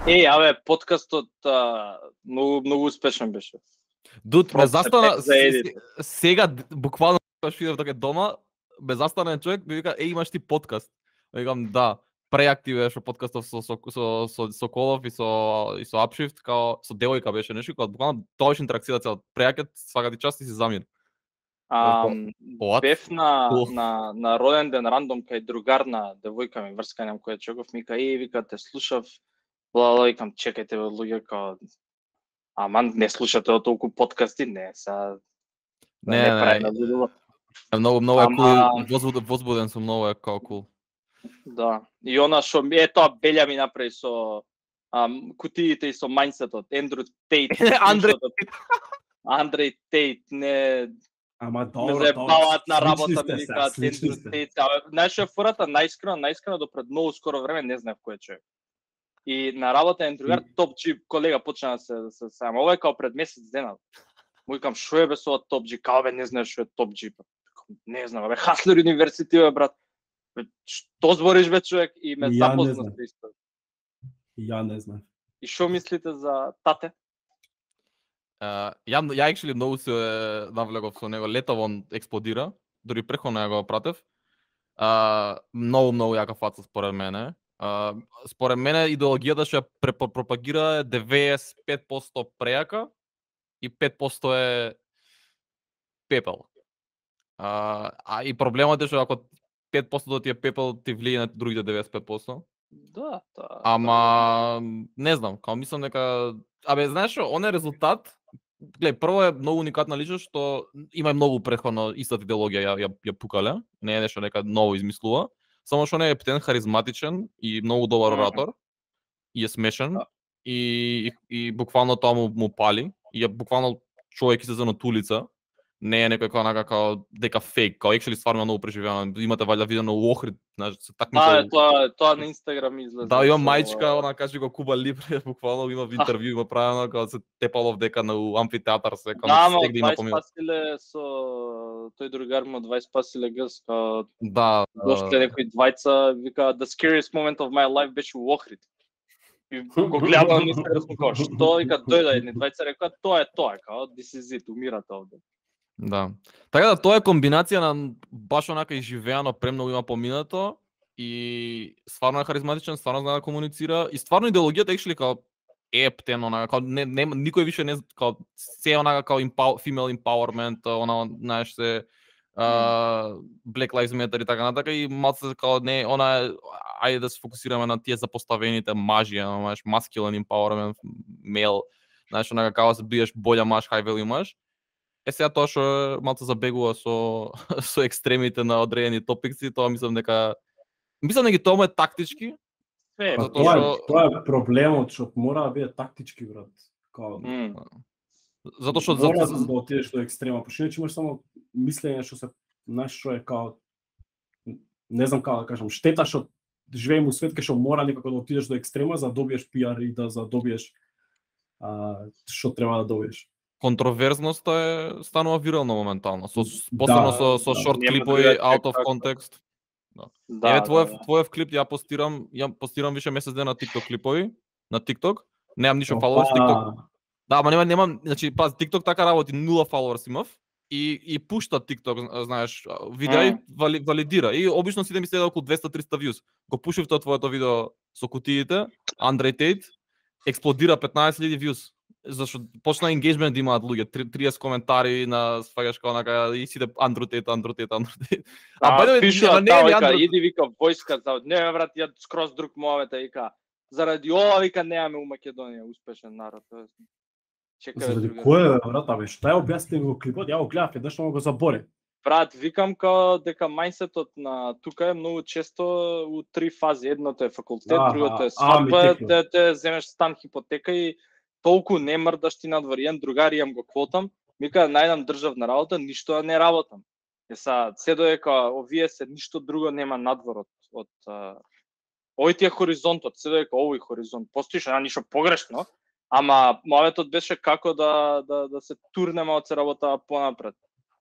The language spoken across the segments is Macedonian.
Абе, подкастот многу успешен беше. Дуд, ме застана сега буквално кога шидев дека дома, ме застана човек, ми вика, имаш ти подкаст. Викам, да, преактивираш подкастов со Колов и со Upshift, као со девојка беше нешто, кога буквално тоа беше интеракција цела. Преакет, свака ти част и си замир. Бев на роден ден рандом кај другар на девојка ми врска нем која чеков, ми вика те слушав, викам чекајте бе луѓе као аман не слушате од толку подкасти, не, са не прави. Многу е кул, возбуден сум, многу е као кул. Да. И она што тоа Белја ми направи со кутиите и со мајндсетот, Ендрю Тейт. Андреј Тейт, не. Ама добро, ме заебаваат на работа ми викаат Ендрю Тейт. Знаеш што е фората, најискрено до пред многу скоро време не знаев кој е човек. И на работа е другар топ джип колега почна да се сама. Ова е као пред месец дена. Му викам што е бе со топ джип? Као бе не знаеш што е топ джип? Не знам, бе Хаслер универзитет бе брат. Што збориш бе човек и ме запозна со исто. Ја не знам. И што мислите за тате? Ја actually многу се навлегов со него, летово он експлодира, дури преко него го пратев. Многу јака фаца според мене. Според мене идеологијата што ја пропагира е 95% прејака и 5% е пепел. И проблемот е што ако 5% ти е пепел, ти влие на другите 95%. Да, ама не знам, као мислам дека знаеш што, он е резултат. Глеј, прво е многу уникатна личност што има многу претходно истата идеологија ја пукале, не е нешто нека ново измислува. Само што не е птен, харизматичен и многу добар оратор. И е смешен. И буквално тоа му пали. И е буквално човек излезен од улица. Не е некој као дека фейк, као actually стварно многу преживено. Имате валја видено у Охрид, знаеш, се такмичел. Тоа на Инстаграм излезе. Да, има мајчка, она каже го Куба Либре, буквално има интервју има правено као се тепало дека на амфитеатар се као стег да има помина. Да, спасиле со тој другар му 20 спасиле гъс, као дошле некои двајца, вика the scariest moment of my life беше у Охрид. И го гледам на Инстаграм као што, вика дојде едни двајца рекоа тоа е тоа, као this is it, умирате овде. Да. Така да тоа е комбинација на баш онака изживеано премногу има поминато и стварно е харизматичен, стварно знае да комуницира и стварно идеологијата actually као ептен, онака као никој више не као се онака као female empowerment, она знаеш се Black Lives Matter и така натака и малце као не она ајде да се фокусираме на тие запоставените мажи, знаеш masculine empowerment, male, знаеш онака као се бидеш боља маж, high value маж. Сега тоа што малку забегува со екстремите на одредени топикси, тоа мислам дека тоа е тактички. Тоа е проблемот што мора да биде тактички брат. Затоа што мора да отидеш до екстрема, пошто иначе имаш само мислење што се што е као не знам како да кажам, штета што живееме у свет кај што мора некако да отидеш до екстрема за да добиеш пиар и да добиеш што треба да добиеш. Контроверзноста станува вирално моментално, посебно со шорт клипови out of context. Еве твојов клип ја постирам више месец дена на TikTok клипови, на TikTok. Немам ништо followers TikTok. Да, ама немам, значи пази TikTok така работи, 0 followers имав и пушта TikTok, знаеш, видеа валидира и обично сите ми следа околу 200-300 views. Го пушив тоа твоето видео со кутиите, Андреј Тейт, експлодира 15,000 views. Зашто почна engagement да имаат луѓе, 30 коментари на сваѓаш као онака и сите Андрю Тейт. Пишува така, иди вика војска, не брат, ја скроз друг мовета вика. Заради ова вика немаме у Македонија успешен народ. Чекај. Заради кој брат, абе што ја објасни го клипот, ја го гледав еднаш, но го заборев. Брат, викам као дека мајндсетот на тука е многу често у 3 фази. Едното е факултет, другото е свадба, те земеш стан, хипотека и толку не мрдаш ти надвор. Еден другар имам го квотам, мика најдам државна работа, ништо не работам. Се додека овие се ништо друго нема надвор од овој ти е хоризонтот, се додека овој хоризонт постоиш, ништо погрешно, ама моветот беше како да се турнеме од се работа понапред.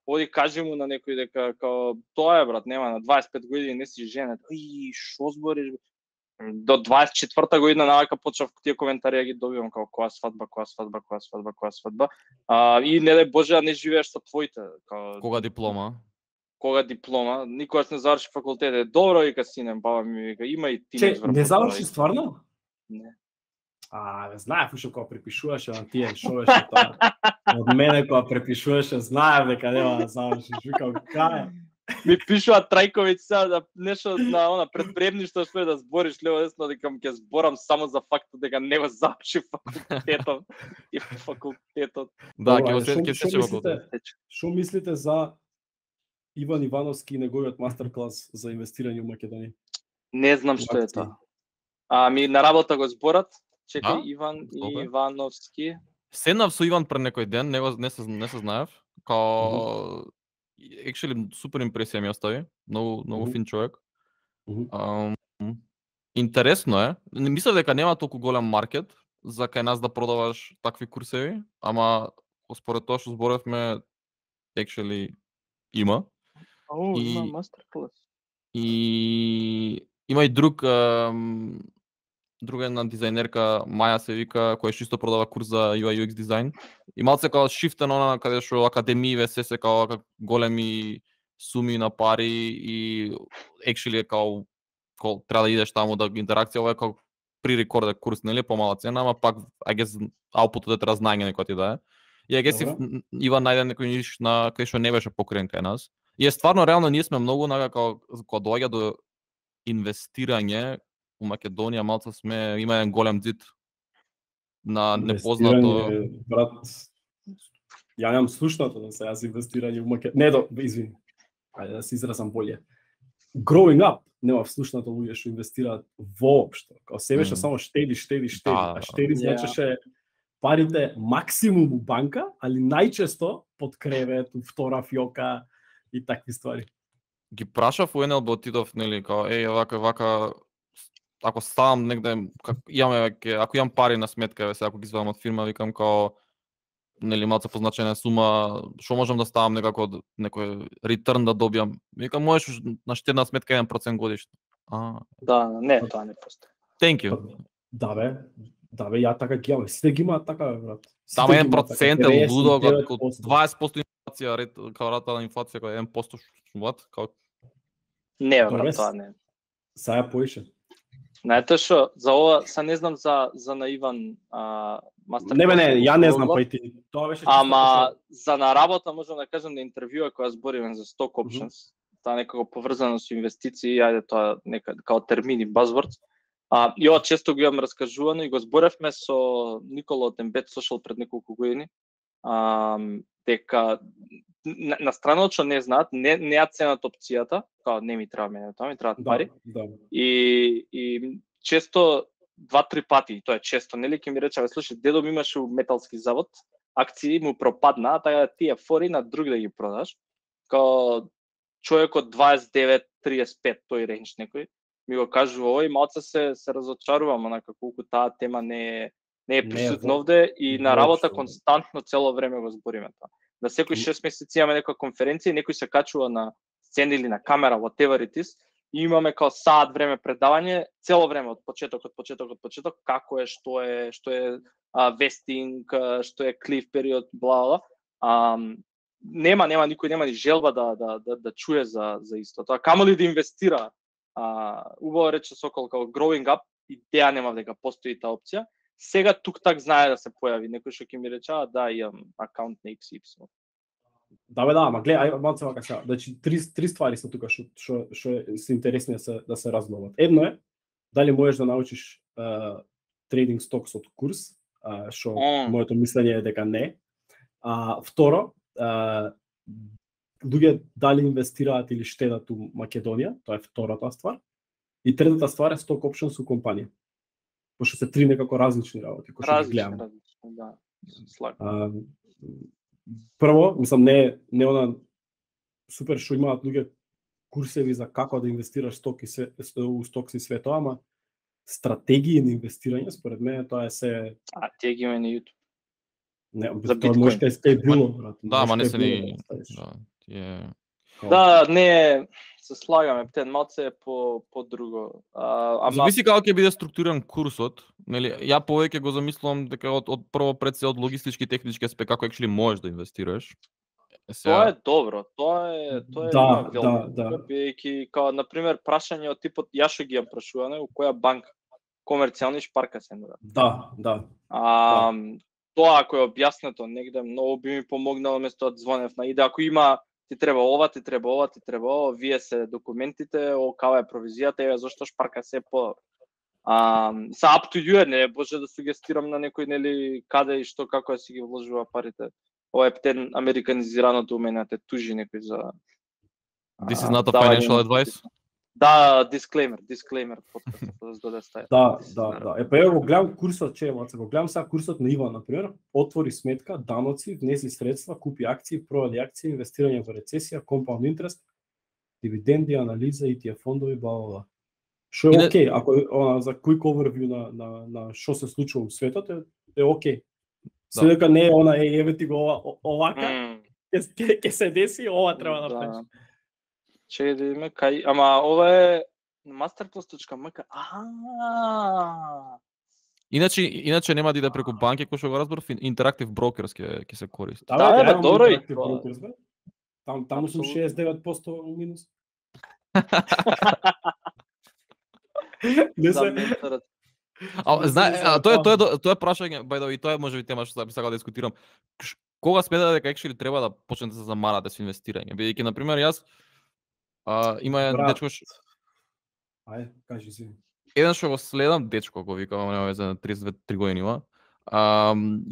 Оди кажи му на некој дека као тоа е брат, нема на 25 години не си женет. Шо збориш? До 24-та година навака почнав тие коментари да ги добивам како која свадба. И не дај Боже, не живееш со твоите. Кога диплома? Никогаш не заврши факултет. Добро, вика сине, баба ми вика, има и тинеџ врв. Не заврши стварно? Не. Знаев уште кога препишуваше на тие шовеше тоа. Од мене кога препишуваше, знаев дека нема да завршиш. Викам, кај? Ми пишуваат Трајковиќ сега да нешто на предприемништво што да збориш лево десно, дека ќе зборам само за фактот дека не го заврши факултетот и факултетот. Да, ќе се факултет. Што мислите за Иван Ивановски и неговиот мастер-клас за инвестирање во Македонија? Не знам што е тоа. На работа го зборат. Чекај, Иван Ивановски. Седнав со Иван пред некој ден, не се знаев. Као actually супер импресија ми остави. Многу фин човек. Интересно е. Не мислев дека нема толку голем маркет за кај нас да продаваш такви курсеви, ама според тоа што зборевме actually има. Има мастер-клас. И има и друга една дизајнерка, Маја се вика, која чисто продава курс за UI UX дизајн. И малце као шифтен она каде што академииве се као големи суми на пари и actually као треба да идеш таму да интеракција, ова е као pre-recorded курс, нели, помала цена, ама пак I guess outputот е треба знаење некој ти да е. И I guess Иван најде некој ниш на кај што не беше покрен кај нас. И е стварно реално ние сме многу као кога доаѓа до инвестирање у Македонија, малце има еден голем дзид на непознато. Брат, ја немам слушнато да се јас инвестирање у Македонија. Извини. Ајде да се изразам боле. Growing up, нема слушнато луѓе што инвестираат воопшто. Као се беше само штеди. А штеди значеше парите максимум у банка, али најчесто под кревет, у втора фиока и такви ствари. Ги прашав у НЛБ отидов, нели, као вака ако ставам негде, ако имам пари на сметка, ако ги извадам од фирма, викам као нели малку позначена сума, што можам да ставам некако некој return да добијам. Викам можеш на штедна сметка 1% годишно. Да, не, тоа не постои. Thank you. Да бе, ја така ги имам. Сите ги имаат така, брат. Само 1% е лудо, 20% инфлација, као рата на инфлација, као 1% what? Не, брат, тоа не. Саја поише. Знаете што, за ова, не знам за на Иван мастер. Не, ја не знам, па и ти. Тоа беше ама за на работа можам да кажам на интервјуа која збориме за stock options, таа некако поврзано со инвестиции, ајде тоа нека као термини, buzzwords. И ова често го имам раскажувано и го зборевме со Никола од Embed Social пред неколку години. Дека на страна што не знаат, не ја ценат опцијата, као не ми треба мене тоа, ми требаат пари. И често 2-3 пати, тоа е често, нели ќе ми рече, слушај, дедо ми имаше металски завод, акции му пропадна, така да тие фори на друг да ги продаш. Као човек од 29-35, тој ренч некој, ми го кажува и малце се разочарувам, онака колку таа тема не е присутна овде и на работа константно цело време го збориме тоа. Да секој 6 месеци имаме некоја конференција, некој се качува на сцена или на камера, whatever it is, и имаме као саат време предавање, цело време од почеток, како е, што е вестинг, што е клиф период, бла. Нема никој нема ни желба да чуе за исто тоа. Камо ли да инвестира? Убаво рече Сокол како growing up, идеја нема дека постои таа опција. Сега тук-так знае да се појави некој што ќе ми рече, да, имам акаунт на XY. Да, ама гледај, малце вака сега. Значи три ствари се тука што се интересни да се разгледат. Едно е дали можеш да научиш трейдинг стокс од курс, што моето мислење е дека не. Второ, луѓе дали инвестираат или штедат у Македонија, тоа е втората ствар. И третата ствар е stock options у компанија. Пошто се три некако различни работи кои што ги гледаме. Да. Прво, мислам не она супер што имаат луѓе курсеви за како да инвестираш у стокси и све тоа, ама стратегии на инвестирање според мене тоа е се тие ги има на YouTube. Не, тоа може да е било, брат. Да, ама не се ни Да, не се слагаме, птен малце е по друго. Зависи како ќе биде структуриран курсот, нели? Ја повеќе го замислувам дека од прво пред се од логистички и технички аспект како actually можеш да инвестираш. Тоа е добро, тоа е да, бидејќи као на пример прашање од типот ја што ги ја прашуваме, у која банка комерцијални шпарка се нуда. Да. Тоа ако е објаснето негде многу би ми помогнало место да звонев на иде ако има ти треба ова, вие се документите, кава е провизијата, еве зошто шпарка се по са up to you, не може да сугестирам на некој нели каде и што како си ги вложува парите. Ова е птен американизираното умение, те тужи некој за This is not a financial advice. Да, disclaimer подкастот да се доде стаја. Да. Ева го гледам курсот, го гледам сега курсот на Иван, например, отвори сметка, даноци, внеси средства, купи акции, продади акции, инвестирање во рецесија, compound interest, дивиденди, анализа, ETF фондови, бла. Што е окей, ако за quick overview на што се случува во светот е окей. Следека не е еве ти го овака, ќе се деси, ова треба да правиш. Чекај да видиме кај, ама ова е masterclass.mk. Иначе нема да иде преку банки, кој што го разбрав, Interactive Brokers ќе се користи. Да, добро и таму сум 69% минус. Не се. Тоа е прашање, by the way, тоа е можеби тема што би сакал да дискутирам. Кога смета дека actually треба да почнете да се замарате со инвестирање? Бидејќи на пример јас има дечко Ајде, кажи си. Еден што го следам, дечко го викам, нема веќе на 32-3 години има.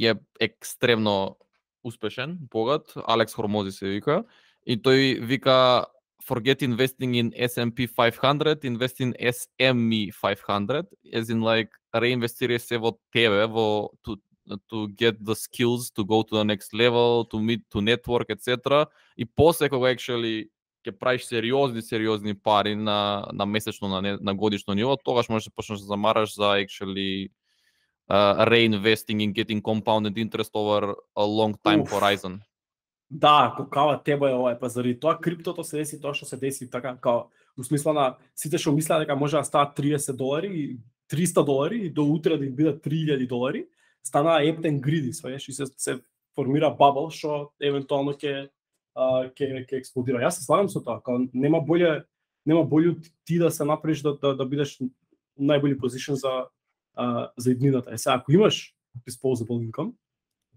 Е екстремно успешен, богат, Алекс Хормози се вика, и тој вика forget investing in S&P 500, invest in SME 500, as in like реинвестирај се во тебе, во to get the skills to go to the next level, to meet, to network, etc. И после кога actually ќе правиш сериозни пари на месечно, на годишно ниво, тогаш можеш да почнеш да замараш за actually reinvesting and getting compounded interest over a long time horizon. Да, кога тебе ова, па заради тоа криптото се деси тоа што се деси, така као во смисла на сите што мислеа дека може да стават $30 и $300 и до утре да им бидат $3000, станаа ептен гриди, сваеш, и се формира бабл што евентуално ќе експлодира. Јас се слагам со тоа, као нема боле ти да се направиш да бидеш најболи позишн за иднината. Сега ако имаш disposable income,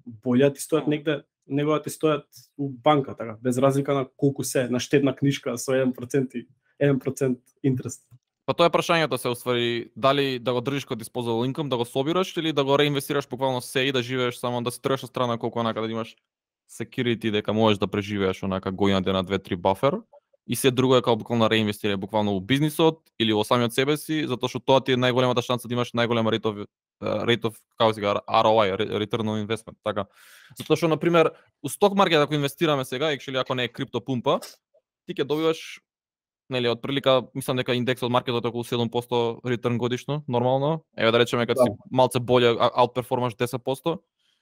боле ти стоят негде, него да ти стоят у банка, така, без разлика на колку се на штедна книжка со 1% интерес. Па тоа е прашањето се уствари, дали да го држиш како disposable income, да го собираш или да го реинвестираш буквално се и да живееш само да се тргаш од страна колку онака да имаш security дека можеш да преживееш онака година дена 2-3 бафер и се друго е како буквално реинвестирање буквално во бизнисот или во самиот себе си, затоа што тоа ти е најголемата шанса да имаш најголема rate of како се кажа ROI, return on investment, така. Затоа што на пример у сток маркет ако инвестираме сега, actually ако не е крипто пумпа, ти ќе добиваш нели од прилика, мислам дека индексот од маркетот е околу 7% return годишно, нормално. Еве да речеме кога си малце боле аутперформаш 10%.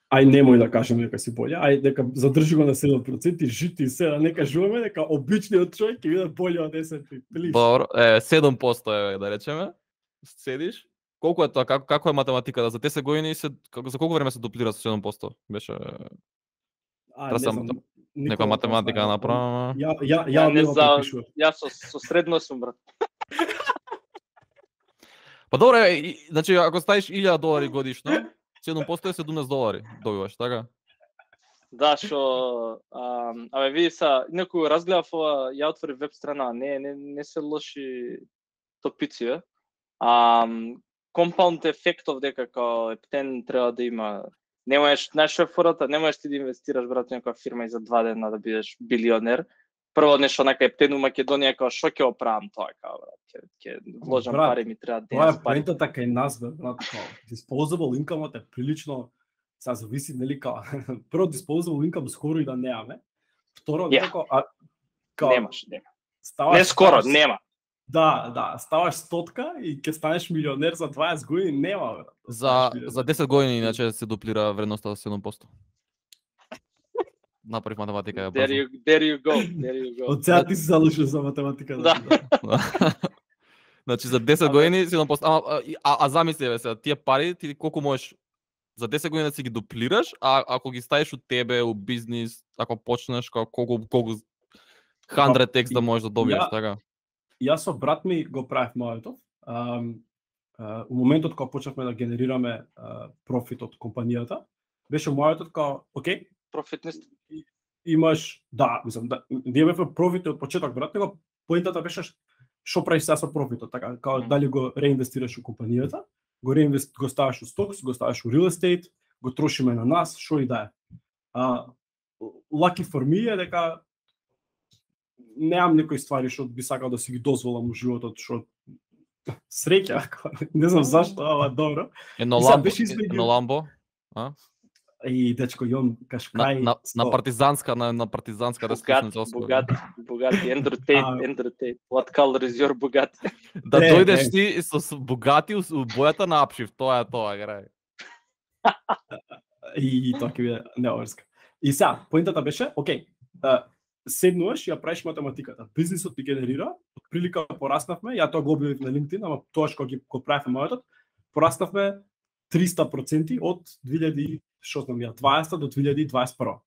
Ај немој да кажеме дека си боле, ај дека задржи го на 7% и жити се, да не кажуваме дека обичниот човек ќе биде боле од S&P. Добро, 7% е да речеме. Седиш. Колку е тоа? Како е математиката? За 10 години за колку време се дуплира со 7%? Беше нека математика направам. Јас со средно сум, брат. Па добре, значи ако ставиш $1000 годишно, 7% е $17 добиваш, така? Да, што абе види са, некој разгледав ова, ја отвори веб страна, не се лоши топици, compound ефектов дека као ептен треба да има. Не можеш, знаеш фората, не можеш ти да инвестираш брат некоја фирма и за 2 дена да бидеш билионер. Прво нешто на ептен у Македонија као што ќе оправам тоа као брат, ќе вложам пари ми треба ден. Тоа е поентата кај нас брат, као disposable income е прилично са зависи нели као прво disposable income скоро и да немаме. Второ дека као немаш. Не скоро, нема. Да, ставаш стотка и ќе станеш милионер за 20 години, нема брат. За 10 години иначе се дуплира вредноста за 7%. направив математика ја There you go. Од сега ти си залушил за математика. Да. Значи за 10 години си а замисли бе сега, тие пари ти колку можеш за 10 години да си ги дуплираш, а ако ги ставиш од тебе у бизнис, ако почнеш колку 100x да можеш да добиеш, така. Јас со брат ми го правев моето. У моментот кога почнавме да генерираме профит од компанијата, беше моето као, окей, профитност. Имаш, да, мислам, да, ние бевме профити од почеток, брат, него поентата беше што правиш сега со профитот, така, као дали го реинвестираш у компанијата, го ставаш у стокс, го ставаш у real estate, го трошиме на нас, што и да е. Lucky for me е дека немам некои ствари што би сакал да си ги дозволам у животот, што среќа, не знам зашто, ама добро. Едно ламбо, а? И дечко Јон Кашкај на партизанска раскошница. Богати, Andrew Tate. What color is your богати? Да дојдеш ти со богати у бојата на апшив, тоа грај. И тоа ќе биде неоверска. И сега, поентата беше, окей, седнуваш и ја правиш математиката. Бизнисот ти генерира, отприлика пораснавме, ја тоа го објавив на LinkedIn, ама тоа што го правевме мојот, пораснавме 300% од 2020 до 2021.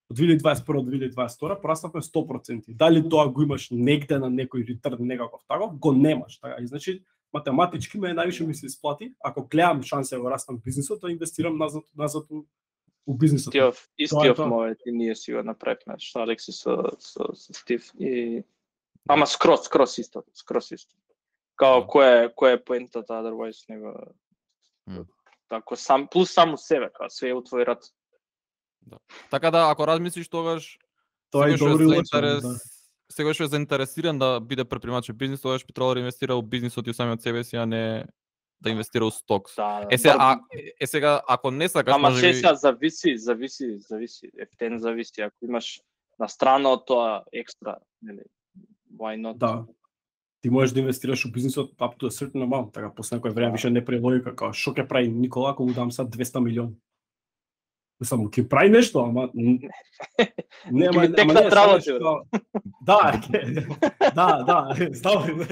Од 2021 до 2022 пораснавме 100%. Дали тоа го имаш негде на некој ретерн некаков таков, го немаш. Така, и значи математички највише ми се исплати, ако гледам шанса да го растам бизнисот, да инвестирам назад у бизнисот. Истиот мојот и ние си го направивме, што Алекси со Стив и ама скрос исто. Као кој е поентата otherwise него Тако плюс само себе, као све у твој рад. Да. Така да, ако размислиш тогаш, тоа е добро сега што е заинтересиран да биде предприемач во бизнис, тогаш би требало да инвестира во бизнисот и самиот себе си, а не да инвестира во стокс. Да, сега ако не сакаш, ама сега зависи, ептен зависи, ако имаш на страна од тоа екстра, нели? Why not? Да. Ти можеш да инвестираш во бизнисот up to a certain amount, така после некој време више не прави логика, како што ќе прави Никола ако му дам сад 200 милиони. Само ќе прави нешто, ама нема текна травата. Да, знам.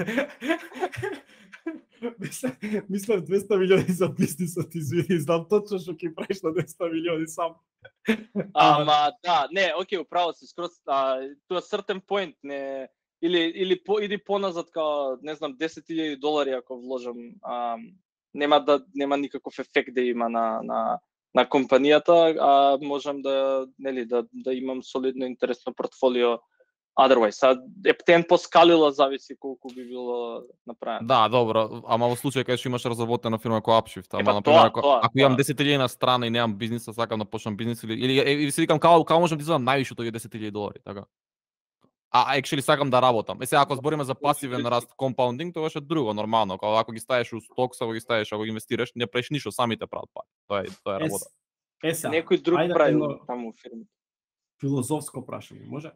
Мислам 200 милиони за бизнисот, извини, знам точно што ќе правиш на 200 милиони сам. Ама да, не, окей, управо си, скроз тоа certain point, не или поназад као, не знам, $10,000 ако вложам, нема никаков ефект да има на компанијата, а можам да имам солидно интересно портфолио otherwise. Ептен поскалила зависи колку би било направено. Да, добро, ама во случај кога што имаш разработена фирма како Upshift, ама например ако имам 10,000 на страна и немам бизнис, сакам да почнам бизнис или си викам како можам да извадам највише од овие $10,000, така. Actually сакам да работам. Сега ако збориме за пасивен раст, компаундинг, тоа е друго, нормално. Ако ги ставиш у стокс, ако ги инвестираш, не правиш ништо, самите прават пари. Тоа е работа. Некој друг прави таму фирмите. Филозофско прашање, може?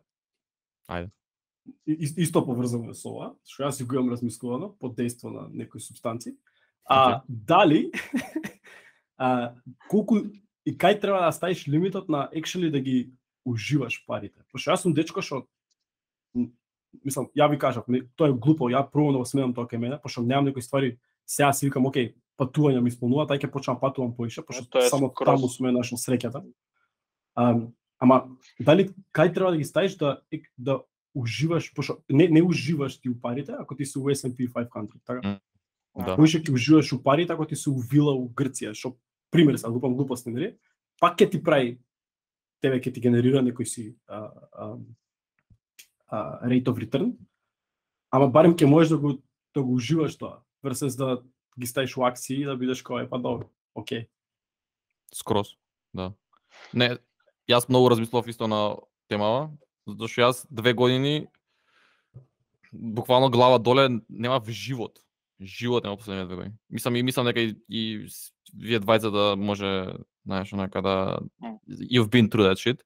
Ајде. Исто поврзано со ова, што јас си го имам размислувано под дејство на некои супстанци. Дали колку и кај треба да ставиш лимитот на actually да ги уживаш парите? Пошто јас сум дечко што мислам, ја ви кажав, тоа е глупо, ја пробувам да го сменам тоа кај мене, пошто немам некои ствари, сега си викам, окей, патување ми исполнува, тај ќе почнам патувам поише, пошто само таму сум нашол среќата. Ама дали кај треба да ги ставиш да уживаш, пошто не уживаш ти у парите ако ти си у S&P 500, така? Да. Поише ќе уживаш у парите ако ти си у вила у Грција, што пример се глупам глупости, нели? Пак ќе ти прави тебе ќе ти генерира некој си rate of return, ама барем ќе можеш да го уживаш тоа, versus да ги ставиш у акции и да бидеш кој па добро, окей. Скроз, да. Не, јас многу размислував исто на темава, затоа што јас 2 години буквално глава доле немав живот. Живот нема последните 2 години. Мислам дека и вие двајца да може, знаеш, онака да you've been through that shit.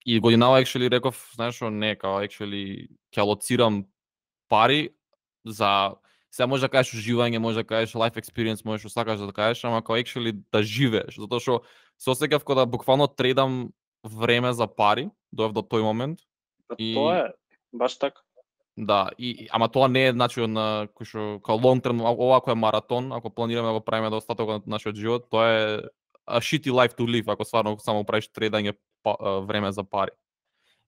И годинава actually реков, знаеш што, не, као actually ќе алоцирам пари за, сега може да кажеш уживање, може да кажеш life experience, можеш да сакаш да кажеш, ама као actually да живееш, затоа што се осеќав кога да буквално трейдам време за пари, доев до тој момент. И тоа е баш така. Да, ама тоа не е значи на кој што као long term, ова кој е маратон, ако планираме да го правиме до остатокот на нашиот живот, тоа е a shitty life to live, ако стварно само правиш тредање време за пари.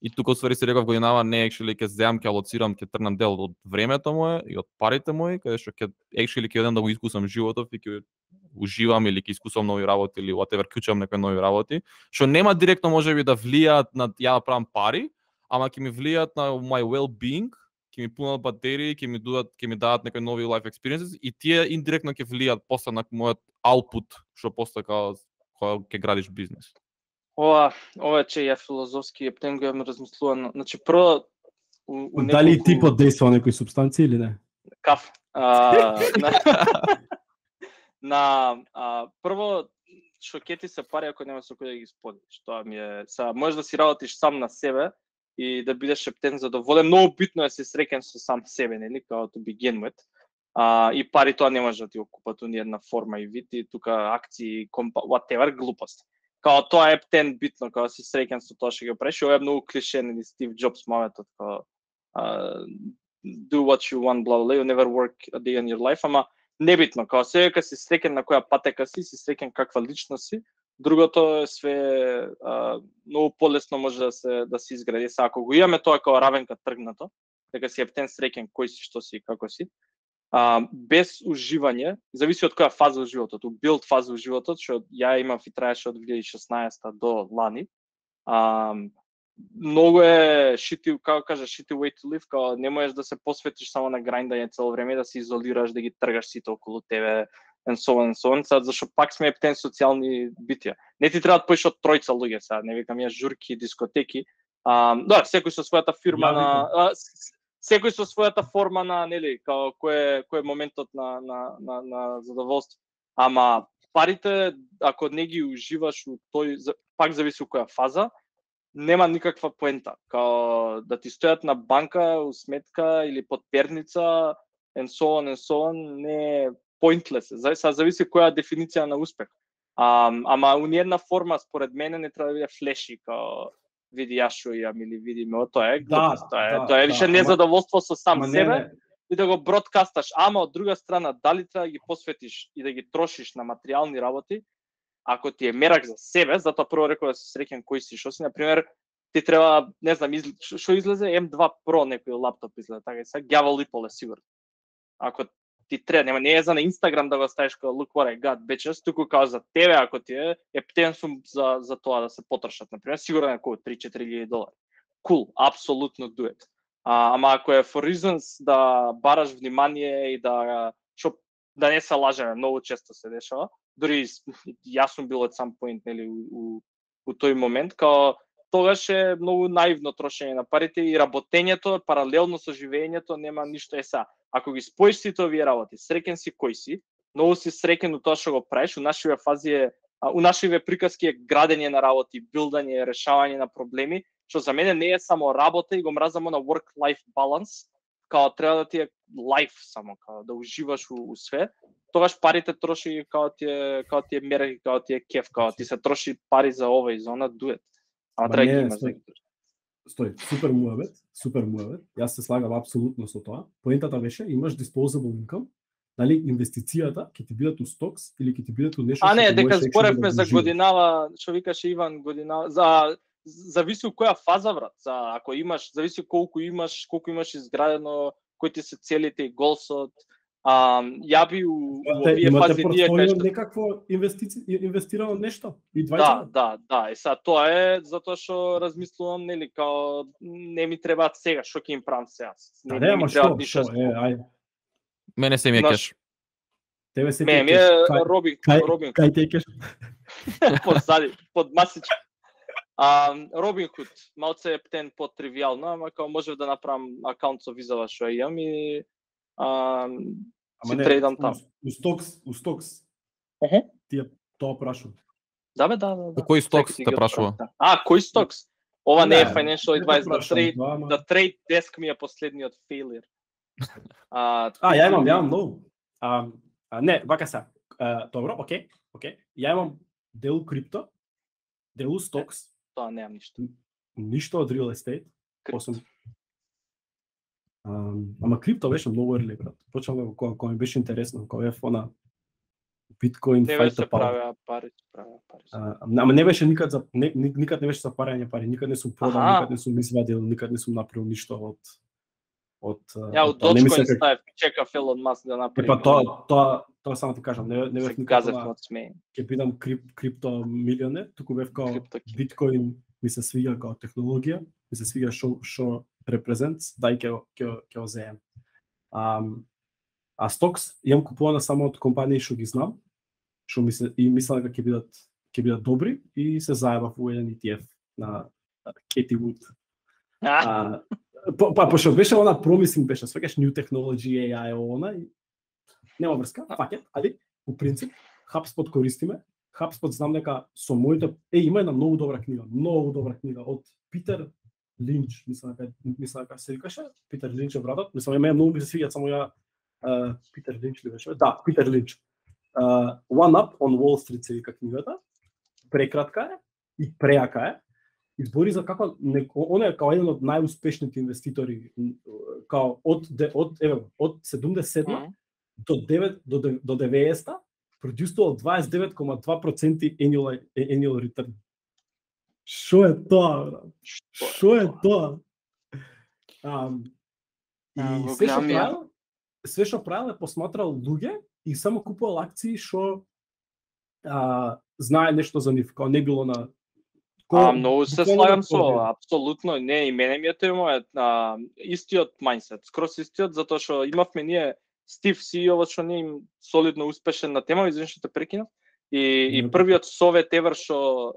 И тука ствари се реков годинава не actually ќе земам, ќе алоцирам, ќе трнам дел од времето мое и од парите мои, каде што ќе actually ќе одам да го искусам животот и ќе уживам или ќе искусам нови работи или whatever, клучам некои нови работи, што нема директно можеби да влијаат на ја да правам пари, ама ќе ми влијаат на my well-being, ќе ми пунат батерии, ќе ми дадат некои нови life experiences и тие индиректно ќе влијаат после на мојот output, што после кога ќе градиш бизнис. Ова че ја филозофски ептен го ја размислувам. Значи прво дали ти поддейства некои супстанции или не? Каф. Прво што ќе ти се пари ако нема со кој да ги споделиш. Тоа ми е, можеш да си работиш сам на себе и да бидеш ептен задоволен. Многу битно е да си среќен со сам себе, нели, како to begin with. И пари тоа не може да ти го купат у ниедна форма и вид, и тука акции, whatever, глупост. Као тоа е ептен битно, као си среќен со тоа што ќе правиш. Ова е многу клише, нели, Стив Џобс моветот, као do what you want, blah blah, you never work a day in your life, ама небитно, као сега си среќен на која патека си среќен каква личност си. Другото е све многу полесно може да се изгради. Ако го имаме тоа како равенка тргнато, дека си ептен среќен кој си, што си и како си, без уживање, зависи од која фаза од животот, у билд фаза од животот, што ја имав и траеше од 2016 до лани. Многу е shitty, како кажа, shitty way to live, као не можеш да се посветиш само на грајндање цело време, да се изолираш, да ги тргаш сите околу тебе, and so on, зашто пак сме ептен социјални битија. Не ти требаат поише од тројца луѓе, сега, не викам ја журки, дискотеки, да, секој со својата фирма секој со својата форма на, нели, као кој е моментот на задоволство. Ама парите, ако не ги уживаш у тој, пак зависи у која фаза, нема никаква поента. Као да ти стојат на банка, у сметка или под перница, and so on, не е pointless. Зависи која дефиниција на успех. Ама у ниедна форма, според мене, не треба да биде флеши, као види јас што имам или види ме, тоа е глупост, тоа е више незадоволство со сам себе и да го бродкасташ, ама од друга страна дали треба да ги посветиш и да ги трошиш на материјални работи, ако ти е мерак за себе, затоа прво реков да си среќен кој си, што си, на пример, ти треба, не знам, што излезе M2 Pro некој лаптоп излезе, така и сега ѓавол и поле сигурно. Ако ти треба, не е за на Инстаграм да го ставиш како look what I got bitches, туку као за тебе, ако ти е ептен сум за тоа да се потрошат, на пример, сигурно е околу $3-4,000. Cool, апсолутно do it. Ама ако е for reasons да бараш внимание и да не се лажеме, многу често се дешава, дури јас сум бил at some point, нели, у тој момент, као тогаш е многу наивно трошење на парите и работењето паралелно со живеењето нема ништо еса. Ако ги споиш сите овие работи, среќен си кој си, многу си среќен у тоа што го правиш, у нашиве приказки е градење на работи, билдање, решавање на проблеми, што за мене не е само работа и го мразам на work-life balance, као треба да ти е life само, као да уживаш у све, тогаш парите троши као ти е мерак, као ти е кеф, као ти се троши пари за ова и за она, дует. Ама треба да имаш. Стој, супер муавет. Јас се слагам апсолутно со тоа. Поентата беше, имаш disposable income, дали инвестицијата ќе ти бидат у стокс или ќе ти бидат у нешто што не, дека зборевме за годинава, што викаше Иван, годинава, зависи у која фаза, брат. Ако имаш, зависи колку имаш изградено, кои ти се целите и голсот. Ја би у овие фази ние кај што некакво инвестирано нешто и Да, и сега тоа е затоа што размислувам, нели, као не ми требаат сега, што ќе им правам сега. Не ми требаат ништо. Мене се ми е кеш. Тебе се ми е Робин. Кај те кеш? Под масичка. Робин Худ, малце е птен по-тривијално, ама као можев да направам акаунт со визава што имам и си трейдам там. У стокс. Тие тоа прашувам. Да. Кој стокс те прашува? Кој стокс? Ова не е financial advice, the trade desk ми е последниот failure. Ја имам многу. Не, вака се. Добро, окей. Ја имам дел крипто, дел стокс, тоа немам ништо. Ништо од real estate, освен ама крипто беше многу early, брат. Почнав кога ми беше интересно, кога е фона Bitcoin fight the power. Пари. Ама не беше никад никад не беше за парање пари, никад не сум продал, никад не сум извадил, никад не сум направил ништо од Ја од Dogecoin ставив, чекав Елон Маск да направи. Тоа само ти кажам, не бев никад ќе бидам крипто милионер, туку бев као Bitcoin ми се свиѓа као технологија, ми се свиѓа што represents, дај ќе го земам. А стокс имам купувана само од компании што ги знам, што мислам дека ќе бидат добри и се заебав во еден ETF на Katie Wood. Пошто беше она промисинг, беше свекаш new technology, AI, она и нема врска, пакет, али по принцип HubSpot користиме. HubSpot знам дека со моите има една многу добра книга од Питер Линч, мислам дека се викаше, Питер Линч е братот, мислам многу ми се свиѓа само ја Питер Линч ли беше? Да, Питер Линч. One Up on Wall Street се вика книгата. Прекратка е и преака е. Избори за како он е као еден од најуспешните инвеститори, као од 77 до 90 продуцирал 29,2% annual return. Шо е тоа, брат? Шо е тоа? И све што правил е посматрал луѓе и само купувал акции што знае нешто за нив, као не било на многу се слагам со, апсолутно, не, и мене ми е тоа истиот мајндсет, скрос истиот, затоа што имавме ние Стив CEO што не им солидно успешен на тема, извини што те прекинав, и првиот совет евер што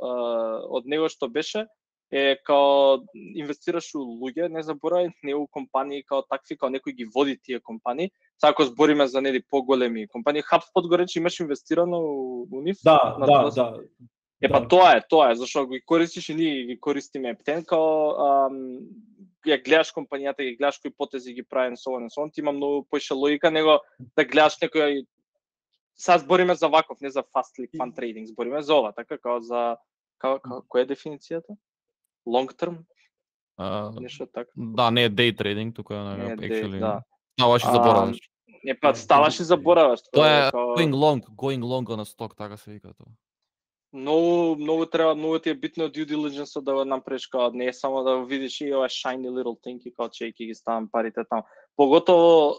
од него што беше е као инвестираш у луѓе, не заборај, не у компании као такви, као некој ги води тие компании. Сега ако збориме за нели поголеми компании, HubSpot го рече имаш инвестирано у нив? Да. Па тоа е, зашто го користиш и ние ги користиме ептен, као ја гледаш компанијата, ги гледаш кои потези ги правен со он, ти има многу поише логика него да гледаш некој. Сега збориме за ваков, не за fast click fund trading, збориме за ова, така као за која е дефиницијата? Long term? Нешто така. Да, не е day trading, тука е actually. Ставаш и забораваш. Ставаш и забораваш. Тоа е going long на сток, така се вика тоа. Многу треба, многу ти е битно due diligence да го направиш, као не е само да го видиш и ова shiny little thing и као ќе ги ставам парите таму. Поготово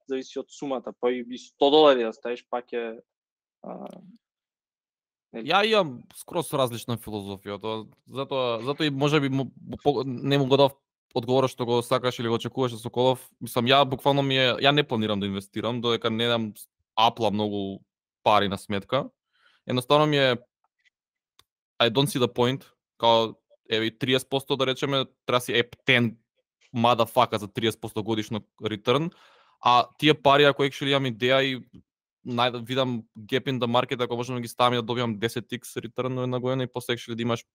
зависи од сумата, па и $100 да ставиш, пак е Ја имам скроз различна филозофија, затоа и можеби не му го дав одговор што го сакаш или го очекуваш со Соколов. Мислам, ја буквално ја не планирам да инвестирам, додека не дам апла многу пари на сметка. Едноставно ми е I don't see the point, као еве 30% да речеме, треба си ептен motherfucker за 30% годишно return, а тие пари ако actually имам идеја и видам gap in the market, ако можам да ги ставам и да добиам 10x return на една година и после actually да имаш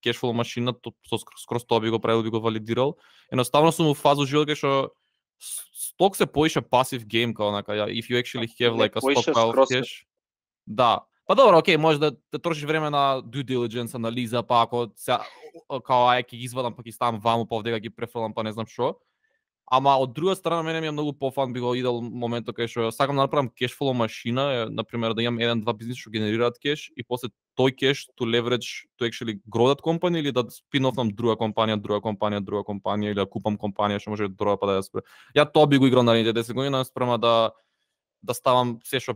cash flow машина, скроз тоа би го правил, би го валидирал. Едноставно сум во фаза живот кај што сток се поише пасив гейм, као онака, if you actually have like a stockpile of cash. Да. Па добро, окей, може да трошиш време на due diligence, анализа, па ако као ќе ги извадам, па ги ставам ваму, па овдека ги префрлам, па не знам што. Ама од друга страна мене ми е многу пофан би го идел моментот кај што сакам да направам cash flow машина, на пример да имам 1-2 бизниси што генерираат кеш и после тој кеш to leverage to actually grow that company или да спин-офнам друга компанија или да купам компанија што може друга па да ја спре. Ја тоа би го играл наредните 10 години спрема да ставам се што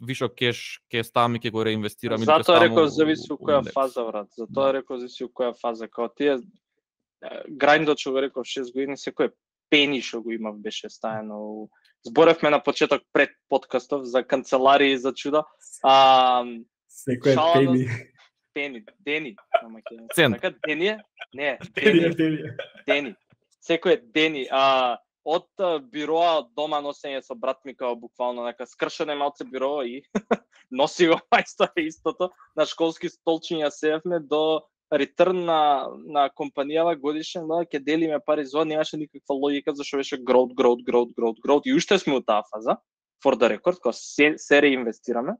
вишо кеш ќе ставам и ќе го реинвестирам. Затоа реков зависи од која фаза, брат. Затоа реков зависи од која фаза, као тие грайндот што го реков 6 години, секој пени што го имав беше стаено. Зборевме на почеток пред подкастов за канцеларии за чуда. Секој пени, дени. Така дени е? Не, дени. Секој е дени. Од бироа од дома носење со брат ми као буквално нека скршене малце биро и носи го мајстор истото на школски столчиња сеевме до реturn на компанијава годишен, ќе делиме пари за, немаше никаква логика зашто беше growth и уште сме у таа фаза for the record, кога се реинвестираме.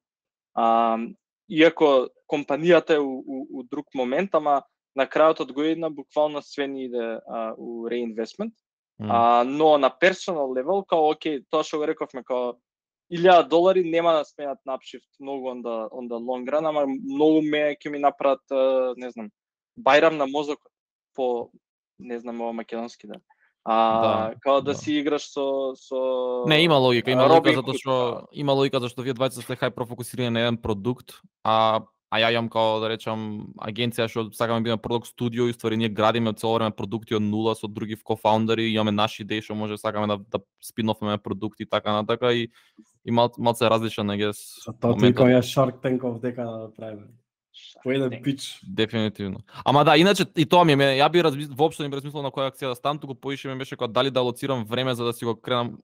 Иако компанијата е у друг момент, ама на крајот од година буквално све ни иде у реинвестмент. Но на персонал левел, као окей, тоа што го рековме, као $1,000 нема да сменат напшифт многу on the long run, ама многу ќе ми направат, не знам, бајрам на мозокот по, не знам ова македонски да. Као да си играш со Не, има логика затоа што вие двајца сте хајпер фокусирани на еден продукт, а ја имам као да речам агенција што сакаме да бидеме продукт студио и ствари ние градиме цело време продукти од нула со други кофаундери, имаме наши идеи што може сакаме да спинофаме продукти и така натака и малце различен негес. Тоа ти кој е Shark Tank дека да правиме. По еден пич. Дефинитивно. Ама да, иначе и тоа ми е, ја би воопшто не би размислил на која акција да ставам, туку поише ми беше кога дали да алоцирам време за да си го кренам,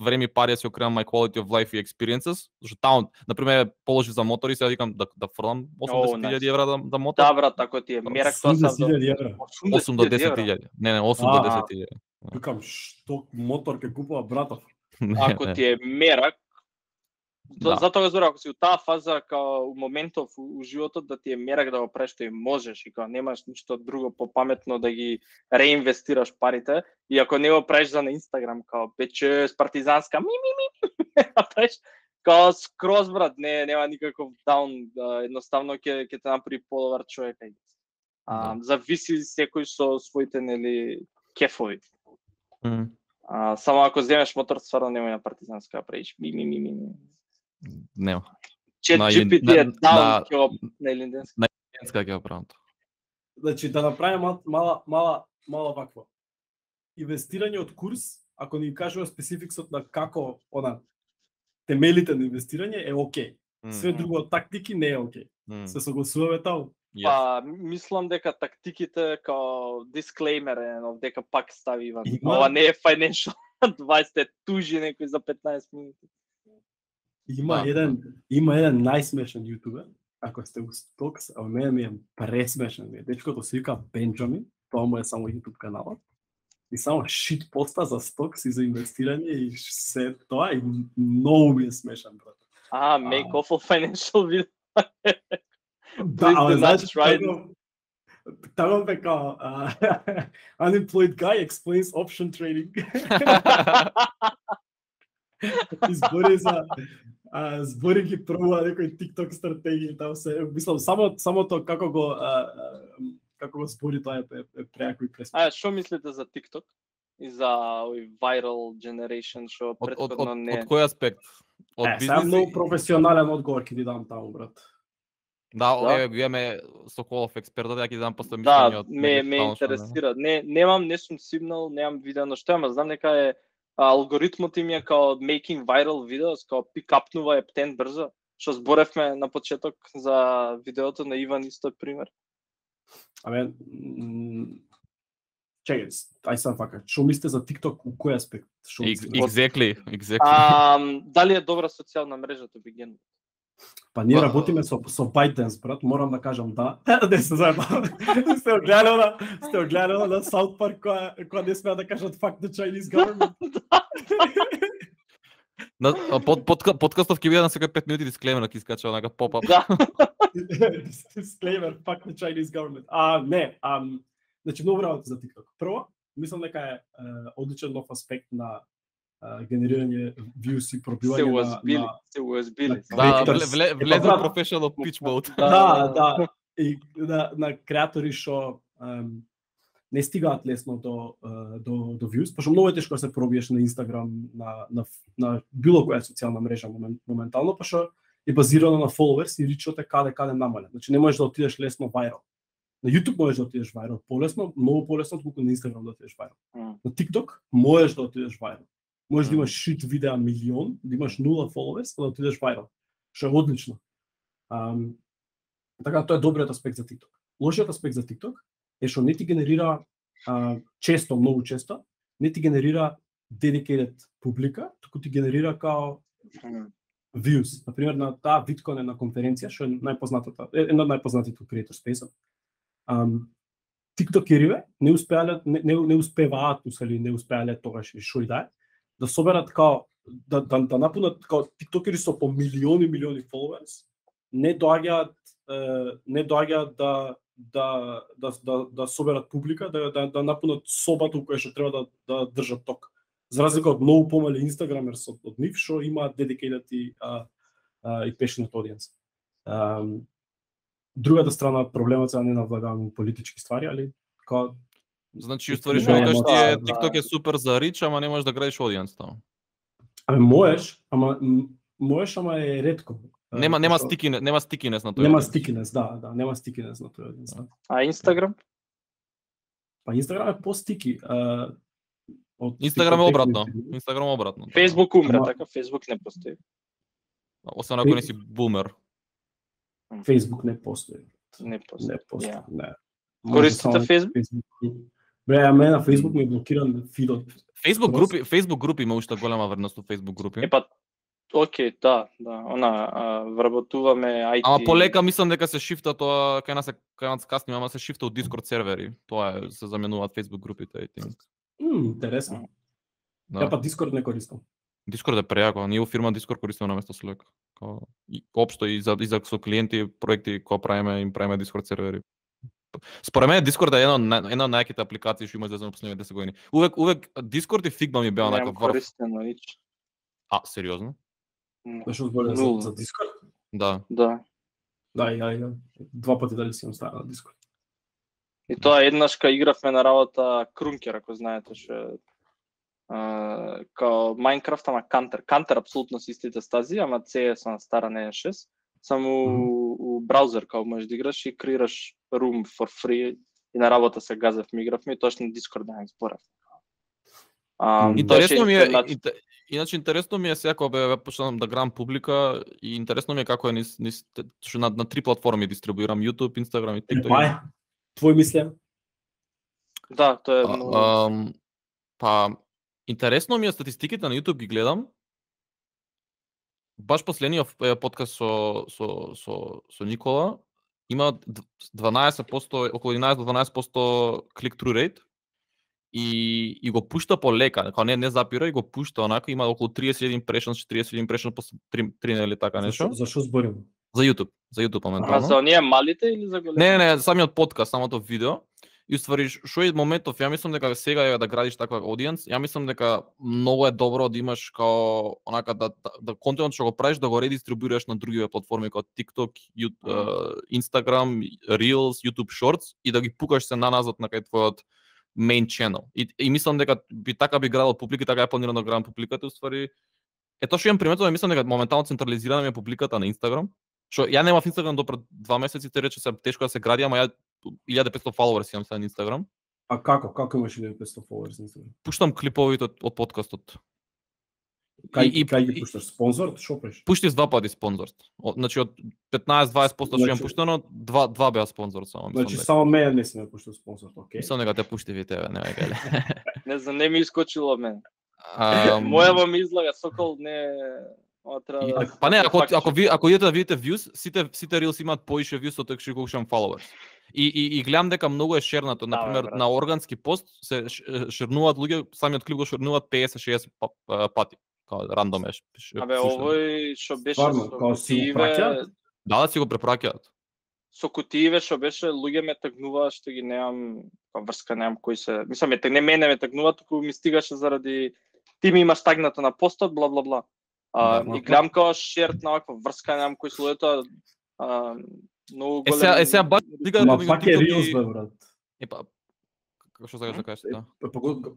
време и пари да си го кренам my quality of life и experiences, зашто таму, например, положи за мотори, сега викам да фрлам 80,000 евра да мотор. Да, брат, ако ти е мерак тоа са 80,000 евра. 8 до 10,000. Не, 8 до 10,000. Викам што мотор ќе купува братов. Ако ти е мерак, затоа го зборам, ако си у таа фаза као у моментов у животот да ти е мерак да го правиш што и можеш и као немаш ништо друго попаметно да ги реинвестираш парите и ако не го правиш за на Инстаграм као пече партизанска правиш као скроз брат, нема никаков даун, едноставно ќе те направи подобар човек. Зависи секој со своите нели кефови. Само ако земеш мотор стварно нема на партизанска правиш Нема. ChatGPT е даун ќе на Линденска. На Линденска ќе правам тоа. Значи да направиме мала ваква. Инвестирање од курс, ако ни кажува спецификсот на како темелите на инвестирање е окей. Све друго од тактики не е окей. Се согласуваме таму? Па, мислам дека тактиките као дисклеймер дека пак стави Иван. Ова не е financial advice, те тужи некој за 15 минути. Има еден најсмешен јутубер, ако сте у Stocks, а мене ми е пресмешен. Дечкото се вика Бенџамин, тоа му е само YouTube каналот. И само шит поста за Stocks и за инвестирање и се тоа и многу ми е смешен, брат. Make off of financial video. Да, значи, таму бека unemployed guy explains option trading. Збори ги пробува некој TikTok стратегија, таму се мислам само тоа како го збори тоа е преако и пресмешно. Што мислите за TikTok и за овој viral generation што претходно не? Од кој аспект? Од бизнес? Многу професионален одговор ќе ти дам таму, брат. Да, имаме Соколов експертот, ја ќе дам после мислење од ме интересира. Не сум сигнал, немам видено што, ама знам дека е алгоритмот им е као making viral videos, као пикапнува ептен брзо, што зборевме на почеток за видеото на Иван исто пример. Чекај, сам фака, што мислите за TikTok, у кој аспект? Exactly. Дали е добра социјална мрежа to begin? Па ние работиме со ByteDance, брат, морам да кажам да. Не се заебам. Сте огледали на South Park која не смеа да кажат fuck the Chinese government. Подкастов ќе биде на секој 5 минути дисклеймер ќе искача онака поп-ап. Дисклеймер fuck the Chinese government. Значи многу работи за TikTok. Прво, мислам дека е одличен нов аспект на генерирање views и пробивање се уазбили. Влезе professional pitch mode. Да. И на креатори што не стигаат лесно до views, пошто многу е тешко да се пробиеш на Instagram, на било која социјална мрежа моментално, пошто е базирано на followers и ричот е каде намален. Значи не можеш да отидеш лесно viral. На YouTube можеш да отидеш viral полесно, многу полесно отколку на Instagram да отидеш viral. На TikTok можеш да отидеш viral. Можеш да имаш шит видеа милион, да имаш 0 followers, да отидеш viral. Што е одлично. Така тоа е добриот аспект за TikTok. Лошиот аспект за TikTok е што не ти генерира многу често, не ти генерира dedicated публика, туку ти генерира као views. Например, на таа Bitcoin на конференција, што е најпознатата, една од најпознатите creator space-от. TikTokeриве не успеваат, не успеале тогаш и шо и да соберат као да напунат као тиктокери со по милиони followers, не доаѓаат да соберат публика, да напунат собата која што треба да држат ток. За разлика од многу помали инстаграмерс од нив што имаат dedicated и passionate audience. Другата страна проблемот се не навлагам политички ствари, али како значи уствари што кажеш ти е TikTok е супер за рич, ама не можеш да градиш audience таму. Можеш, ама е ретко. Нема стикинес на тој. Нема стикинес, да, нема стикинес на тој audience. А Инстаграм? Па Инстаграм е по-стики. Инстаграм е обратно. Фейсбук умре, така Фейсбук не постои. Освен ако не си бумер. Фейсбук не постои. Не постои. Не. Користите Фейсбук? Бре, мене на Фейсбук ми е блокиран фидот. Фейсбук групи има уште голема вредност од Фейсбук групи. Океј, да, вработуваме IT. Ама полека мислам дека се шифта тоа, кај нас касни, ама се шифта од Discord сервери. Тоа се заменуваат Facebook групите, I think. Интересно. Ја па Discord не користам. Discord е прејако, ние во фирма Discord користиме наместо Slack. Општо и за со клиенти проекти кои правиме, им правиме Discord сервери. Според мене Discord е една од најаките апликации што има за последните 10 години. Увек Discord и Figma ми беа некој врв. Користено нич. Сериозно? Што збориш за Discord? Да. Да. Да, два пати дали си ставил на Discord. И тоа еднаш кога игравме на работа Крункер, ако знаете што као Minecraft, ама Counter. Counter апсолутно се истите стази, ама CS на стара не е 6. Само у браузер као можеш да играш и креираш room for free и на работа се газевме игравме и точно Discord да не зборав. Интересно ми е, иначе интересно ми е сега кога почнам да грам публика и интересно ми е како е што на 3 платформи дистрибуирам YouTube, Instagram и TikTok. Твој мислење? Да, тоа е многу. Па интересно ми е статистиките на YouTube ги гледам. Баш последниот подкаст со Никола има 12%, околу 11 до 12% click-through rate и го пушта полека, као не запира и го пушта онака, има околу 30 impressions, 40 impressions после 3 недели така нешто. За што збориме? За YouTube моментално. А за оние малите или за големите? Не, самиот подкаст, самото видео. И уствари, што е моментов, ја мислам дека сега е да градиш таква аудиенс, ја мислам дека многу е добро да имаш као онака да контентот што го правиш да го редистрибуираш на другиве платформи како TikTok, Instagram, Reels, YouTube Shorts и да ги пукаш се наназад на кај твојот main channel. И мислам дека така би градал публика, така е планирано да градам публиката, уствари. Тоа што имам приметено, мислам дека моментално централизирана ми е публиката на Instagram. Што ја немав Instagram до пред 2 месеци, те рече се тешко да се гради, ама ја 1500 followers имам сега на Instagram. А како имаш 1500 followers на Instagram? Пуштам клиповите од подкастот. Кај ги пушташ? Спонзор? Шо пеш? Пуштиш 2 пати спонзор. Значи од 15-20% што имам пуштено, 2 беа спонзор само. Значи само мене не си ме пуштил спонзор, окей. Мислам дека те пушти ви тебе, не веќе. Не знам, не ми искочило мене. Мојава ми излага Сокол не Па не, ако идете да видите views, сите reels имаат поише views од што го followers. И гледам дека многу е шернато, например на органски пост се шернуваат луѓе, самиот клип го шернуваат 50-60 пати. Као рандом е. Овој што беше со кутииве. Да, си го препраќаат. Со кутииве што беше луѓе ме тагнуваат што ги немам врска, немам кој се. Мислам не мене ме тагнуваат, туку ми стигаше заради ти ми имаш тагнато на постот, бла бла бла. И гледам као шерт на ваква врска, немам кој се луѓето многу голем. Сега баш дига да пак е Reels бе брат. Како што сакаш да кажеш, да.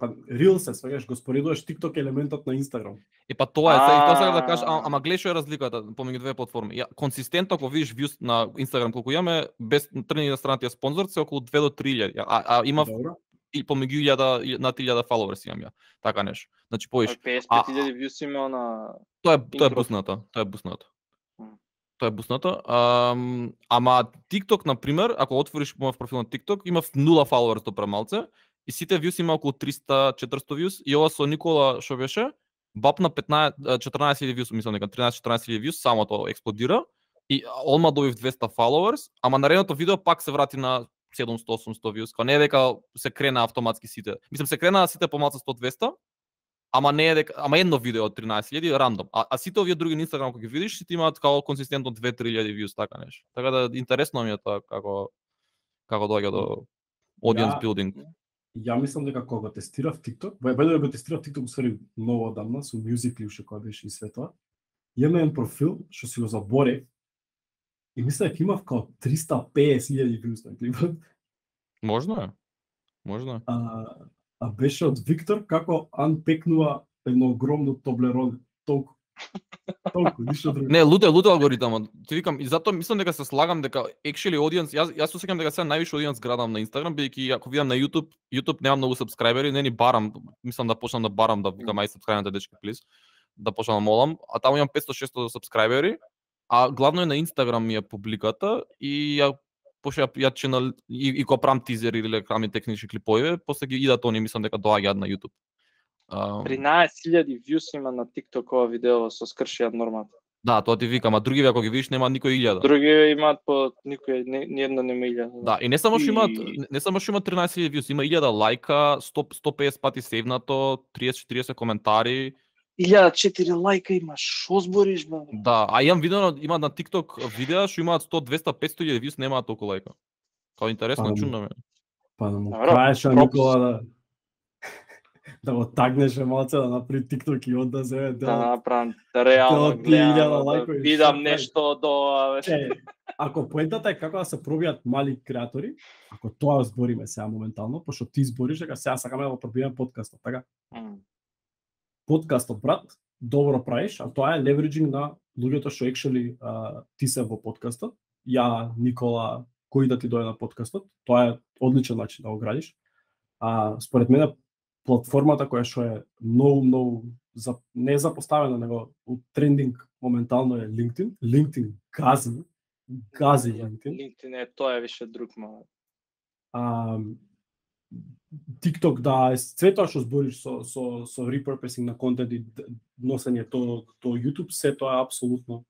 Па Reels се сваѓаш, го споредуваш TikTok елементот на Instagram. Тоа е, тоа сакам да кажеш, ама гледај што е разликата помеѓу две платформи. Консистентно ако видиш views на Instagram колку имаме без тргни на страната ја спонзор се околу 2 до 3000. А има и помеѓу 1000 на 3000 followers имам ја. Така нешто. Значи поиш. 55000 views има на Тоа е буснато. Тоа е буснато. Ама TikTok на пример, ако отвориш мојот профил на TikTok, има 0 followers до премалце и сите views има околу 300-400 views и ова со Никола што беше, бап на 14000 views, мислам дека 13-14000 views, само тоа експлодира и одма добив 200 followers, ама наредното видео пак се врати на 700-800 views, као не е дека се крена автоматски сите. Мислам се крена сите помалку 100-200, ама не е дека, ама едно видео од 13000 рандом. А сите овие други на Instagram кога ги видиш, сите имаат као консистентно 2-3000 views така нешто. Така да интересно ми е тоа како како доаѓа до audience building. Ја мислам дека кога го тестирав TikTok, бајде го тестирав TikTok усвари многу одамна со Musical.ly уште кога беше и све тоа. Имам еден профил што си го заборев и мислам дека имав као 350.000 views на клипот. Можно е. А беше од Виктор како анпекнува едно огромно Toblerone. Толку, ништо друго. Не, лут алгоритамот. Ти викам и затоа мислам дека се слагам дека actually audience, јас се сеќавам дека сега највише audience градам на Instagram, бидејќи ако видам на YouTube немам многу сабскрајбери, не ни барам, мислам да почнам да барам да викам ај сабскрајбнете дечки плиз, да почнам да молам, а таму имам 500-600 сабскрајбери, а главно е на Instagram ми е публиката и пошто ја ченал и кога правам тизери или крами технички клипови, после ги идат они, мислам дека доаѓаат на YouTube. 13.000 views има на TikTok ова видео со скршијат нормата. Да, тоа ти викам, а други ако ги видиш нема никој 1000. Други имаат по никој ни едно нема 1000. Да, и не само што имаат 13.000 views, има 1000 лајка, 150 пати сейвнато, 30-40 коментари. 1004 лајка имаш, шо збориш бе? Да, а имам видено, има на TikTok видеа што имаат 100, 200, 500.000 views, немаат толку лајка. Као интересно, чудно ме. Па да му кажеш Никола да го тагнеше малце да направи TikTok и од да се да направам реално гледам, видам нешто до ако поентата е како да се пробијат мали креатори, ако тоа збориме сега моментално, пошто ти збориш дека сега сакаме да го пробиеме подкастот, така? Подкастот, брат, добро правиш, а тоа е левериджинг на луѓето што actually ти се во подкастот. Ја, Никола, кој да ти дојде на подкастот, тоа е одличен начин да го градиш. Според мене платформата која што е многу не запоставена, него трендинг моментално е LinkedIn. LinkedIn гази LinkedIn. LinkedIn е тоа е више друг момент. TikTok да, све тоа што збориш со repurposing на контент и носење до YouTube, се тоа е апсолутно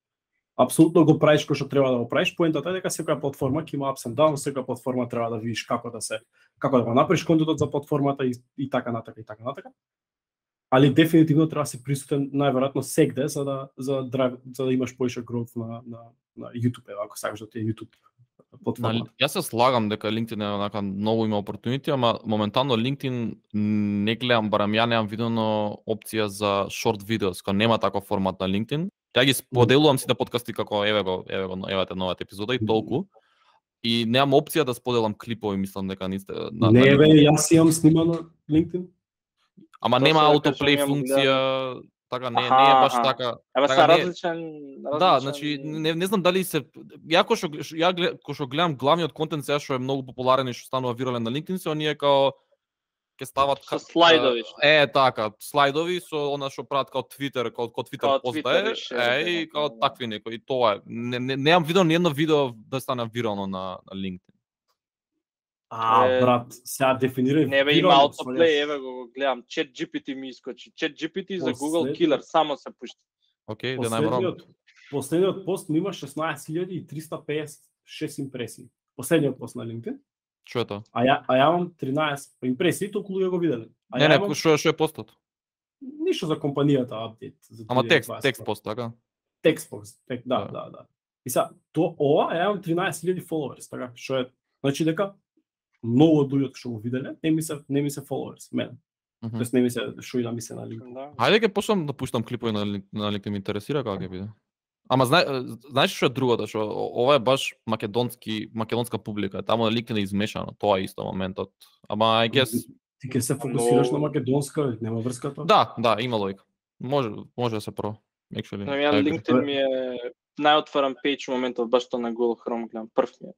го правиш кој што треба да го правиш. Поентата е дека секоја платформа ќе има ups and downs, секоја платформа треба да видиш како да го направиш контентот за платформата и така натака. Али дефинитивно треба да се присутен најверојатно сегде за да имаш поише growth на YouTube, ако сакаш да ти е YouTube платформата. Јас се слагам дека LinkedIn е онака многу има опортунити, ама моментално LinkedIn не гледам, барам ја немам видено опција за short videos, кога нема таков формат на LinkedIn. Ја ги споделувам сите подкасти како евате новата епизода и толку. И немам опција да споделам клипови, мислам дека не бе, јас имам снимано LinkedIn. Ама нема autoplay функција, така не е баш така. Ева се различен. Да, значи не знам дали се ја кога што гледам главниот контент сега што е многу популарен и што станува вирален на LinkedIn, се оние као ќе стават со слайдови. Така, слайдови со она што прават као Twitter, као Twitter пост и као такви некои. И тоа е. Немам видено ни едно видео да стане вирално на LinkedIn. Брат, сега дефинирај. Не бе, има autoplay, еве го гледам. ChatGPT ми искочи. ChatGPT за Google Killer само се пушти. Окей, да најморам. Последниот пост ми има 16.356 импресии. Последниот пост на LinkedIn. Што е тоа? А ја имам 13 импресии, толку луѓе го виделе. Не, што е постот? Ништо за компанијата апдейт. Ама текст пост, така? Текст пост, да. И сега, ова ја имам 13.000 followers, така? Што е, значи дека многу од луѓето што го виделе, не ми се followers, мене. Тоест не ми се што и да ми се на LinkedIn. Хајде ќе почнам да пуштам клипови на LinkedIn, ме интересира како ќе биде. Ама знаеш што е другото, што ова е баш македонска публика, таму на LinkedIn е измешано, тоа е исто моментот. Ама I guess ти ќе се фокусираш на македонска, нема врска тоа? Да, има логика. Може да се про. Actually. На LinkedIn ми е најотворен пејдж моментот баш тоа на Google Chrome гледам, прв ми е.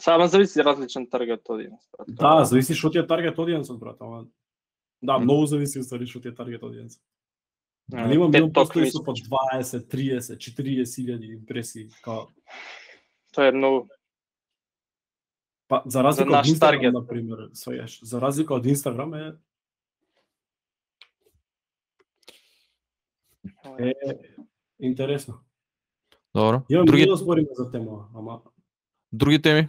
Само зависи различен таргет audience. Да, зависи што ти е таргет audience, брат, ама да, многу зависи што ти е таргет audience. Али имам постои со по 20, 30, 40.000 импресии, као тоа е многу. Па за разлика од Instagram, на пример, за разлика од Instagram е интересно. Добро. Други да збориме за тема, ама други теми?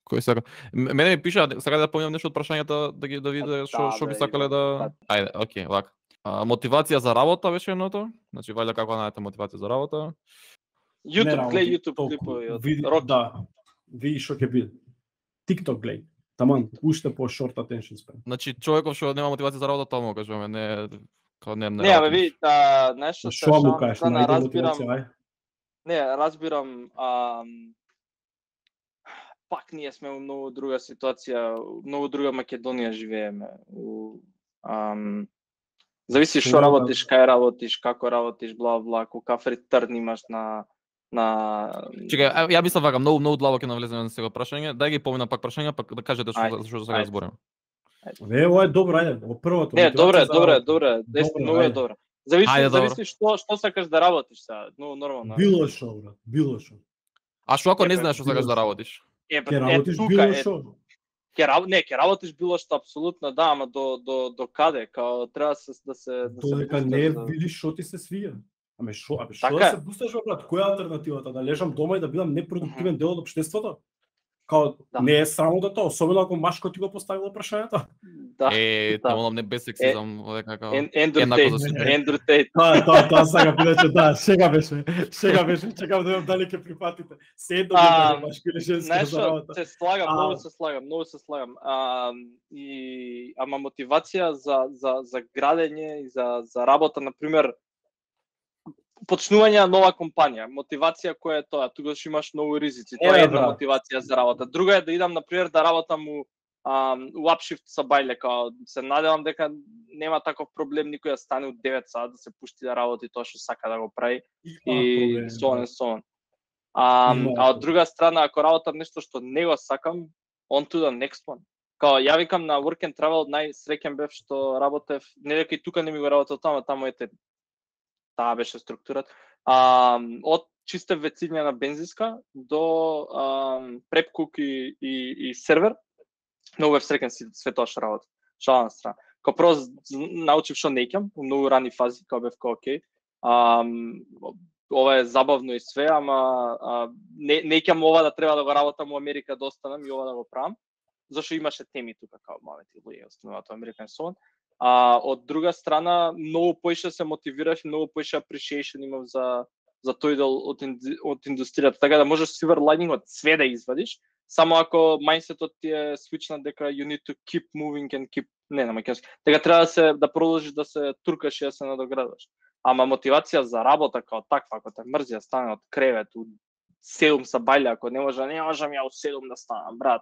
Кој сака? Мене ми пиша, сака да поминам нешто од прашањата да види што би сакале да. Ајде, окей, вака. Мотивација за работа беше едното? Значи вајде како најдете мотивација за работа? YouTube клипови од Роки. Да. види што ќе биде. TikTok гледај. Таман, уште по short attention span. Значи човеков што нема мотивација за работа, тоа му кажуваме, не. Не, бе, ви, нешто се Што му кажеш, најде мотивација, ај? Не, разбирам, пак ние сме во многу друга ситуација, многу друга Македонија живееме. Зависи што работиш, кај работиш, како работиш, бла, каков реturn имаш на Чекај, ја мислам вака, многу длабоко ќе навлеземе на сега прашање. Дај ги помина пак прашања, пак да кажете што сега зборим. Ова е добро, ајде, во првото. Не, добре, многу е добро. Зависи што сакаш да работиш сега, нормално. Било што, брат, било што. А што ако не знаеш што сакаш да работиш? Ќе работиш било што. Ќе работиш било што апсолутно, да, ама до каде? Као треба да се Додека не видиш што ти се свија. Аме што да се бусташ, брат? Која е алтернативата? Да лежам дома и да бидам непродуктивен дел од општеството? Као не е срамота тоа, особено ако машко ти го поставило прашањето. Да. Тоа не без сексизам, дека како Ендрю Тейт. Тоа сега бидеше, да, шега беше. Чекам да видам дали ќе прифатите. Се едно да машко или женско за работа. Се слагам, многу се слагам. Ама мотивација за градење и за работа, на пример, почнување на нова компанија, мотивација која е тоа, тогаш имаш многу ризици, тоа е една мотивација за работа. Друга е да идам, например, да работам у upshift са бајле, као се надевам дека нема таков проблем никој да стане од 9 сат, да се пушти да работи тоа што сака да го прави и so on. А од друга страна, ако работам нешто што не го сакам, on to the next one. Као ја викам на Work and Travel, најсреќен бев што работев, не дека и тука не ми го работел таму ете таа беше структурата. Од чиста вециња на бензинска до prep cook и сервер, многу бев среќен све тоа што работи. Шална страна. Као прво научив што неќам, во многу рани фази, као бев окей. Ова е забавно и све, ама неќам ова да треба да го работам во Америка, да останам и ова да го правам. Зашто имаше теми тука, као мамети луѓе остануваат во Америка и so on. Од друга страна, многу поише се мотивирав и многу поише appreciation имав за тој дел од индустријата. Така да можеш silver lining од све да извадиш, само ако мајндсетот ти е свичнат дека you need to keep moving and keep на македонски. Така треба да продолжиш да се туркаш и да се надоградуваш. Ама мотивација за работа као таква, ако те мрзи да стане од кревет у 7 са бајле, ако не можам ја у 7 да станам, брат.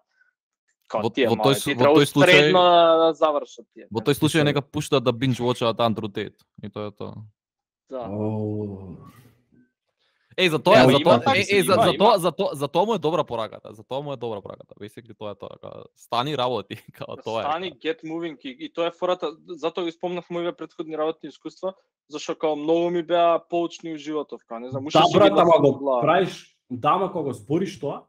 Во тој случај да завршат тие. Во тој случај нека пуштат да binge watchaат Андрю Тейт. И тоа е тоа. Да. За тоа му е добра пораката. Basically тоа е тоа. Стани работи, како тоа е. Стани get moving и тоа е фората, затоа ги спомнав моите предходни работни искуства, зашто као многу ми беа поучни у животов, као не знам, уште си го правиш, дама кога збориш тоа,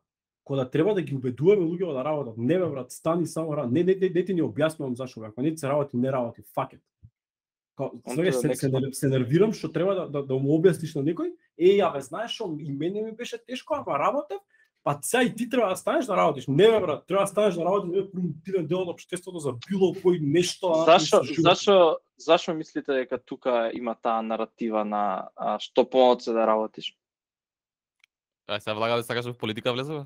кога треба да ги убедуваме луѓето да работат. Не бе брат, стани само работи. Не ти ни објаснувам зашто бе. Ако не се работи, не работи. Fuck it. Се нервирам што треба да му објасниш на некој. Ја бе, знаеш што и мене ми беше тешко, ама работев, па сега и ти треба да станеш да работиш. Не бе брат, треба да станеш да работиш, не е продуктивен дел од општеството за било кој нешто. Зашо мислите дека тука има таа наратива на што помалку да работиш? Сега влага да сакаш во политика влезува?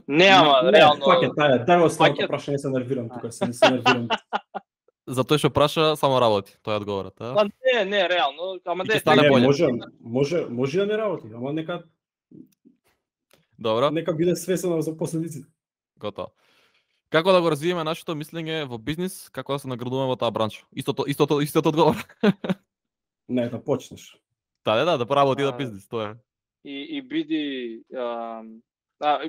Не, ама реално. Дај го оставам прашање, се нервирам тука, се нервирам. Затоа што праша само работи, тоа е одговорот, а? Па не, реално, ама може да не работи, ама нека Добро. Нека биде свесен за последиците. Готово. Како да го развиеме нашето мислење во бизнис, како да се наградуваме во таа бранша? Истото одговор. Не, да почнеш. Да поработи да бизнис, тоа е. И биди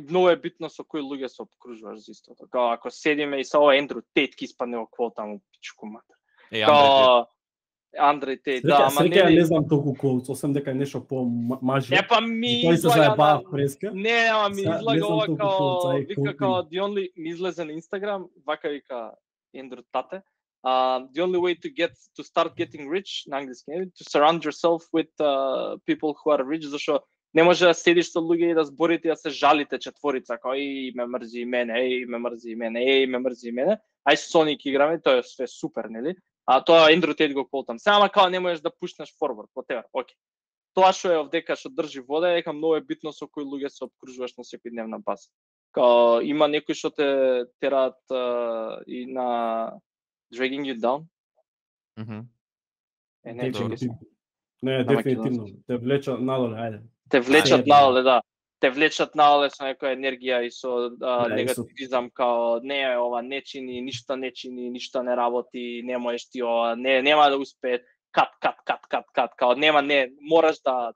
многу е битно со кои луѓе се обкружуваш за истото. Као ако седиме и со ова Ендрю Тейт ки испадне во квота му пичку матер. Андрей Тейт, да, ама не знам толку квот, освен дека е нешто по мажи. Па ми излага преска. Не, ама ми излага ова као вика као ми излезе на Инстаграм, вака вика Ендрю Тате. The only way to start getting rich на англиски, to surround yourself with people who are rich, зашто не може да седиш со луѓе и да зборите и да се жалите четворица, као ме мрзи мене, ме мрзи мене, ај Соник играме, тоа е све супер, нели? А тоа Ендрю Тейт го колтам. Само као не можеш да пушнеш форвард, whatever, окей. тоа што е овдека што држи вода е дека многу е битно со кои луѓе се опкружуваш на секојдневна база. Као има некои што те тераат и на dragging you down. Не, дефинитивно. Те влечат надоле, ајде. Те влечат надоле, да. Те влечат надоле со некоја енергија и со негативизам, као не ова не чини, ништо не работи, не можеш ти ова, нема да успее, кат, као нема, мораш да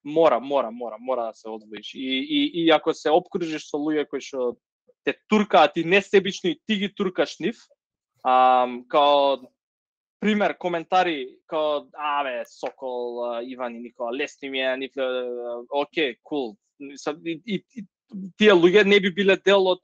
мора да се одвоиш. И ако се опкружиш со луѓе кои што те туркаат и несебично и ти ги туркаш нив, као пример, коментари као Сокол, Иван и Никола, лесни ми е, окей, кул. И тие луѓе не би биле дел од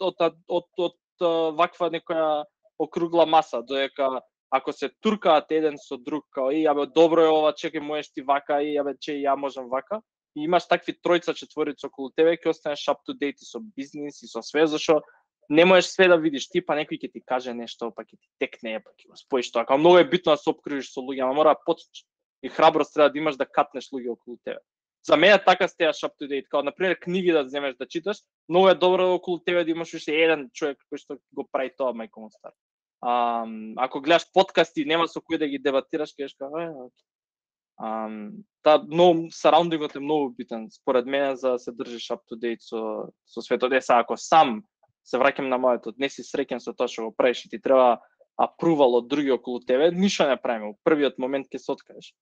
ваква некоја округла маса, додека ако се туркаат еден со друг, као добро е ова, чекај, можеш ти вака, ја можам вака, и имаш такви тројца, четворица околу тебе, ќе останеш up to date и со бизнис и со све, зашто не можеш све да видиш ти, па некој ќе ти каже нешто, па ќе ти текне, па ќе го споиш тоа. Као многу е битно да се опкружиш со луѓе, ама мора да почнеш и храброст треба да имаш да катнеш луѓе околу тебе. За мене така стеаш up to date, као например книги да земеш да читаш, многу е добро околу тебе да имаш уште еден човек кој што го прави тоа, мајко му стар. Ако гледаш подкасти, нема со кој да ги дебатираш, кажеш како но сараундингот е многу битен според мене за да се држиш up to date со светот. Ако сам се враќам на моето, не си среќен со тоа што го правиш и ти треба апрувал од други околу тебе, ништо не правиме. Во првиот момент ќе се откажеш.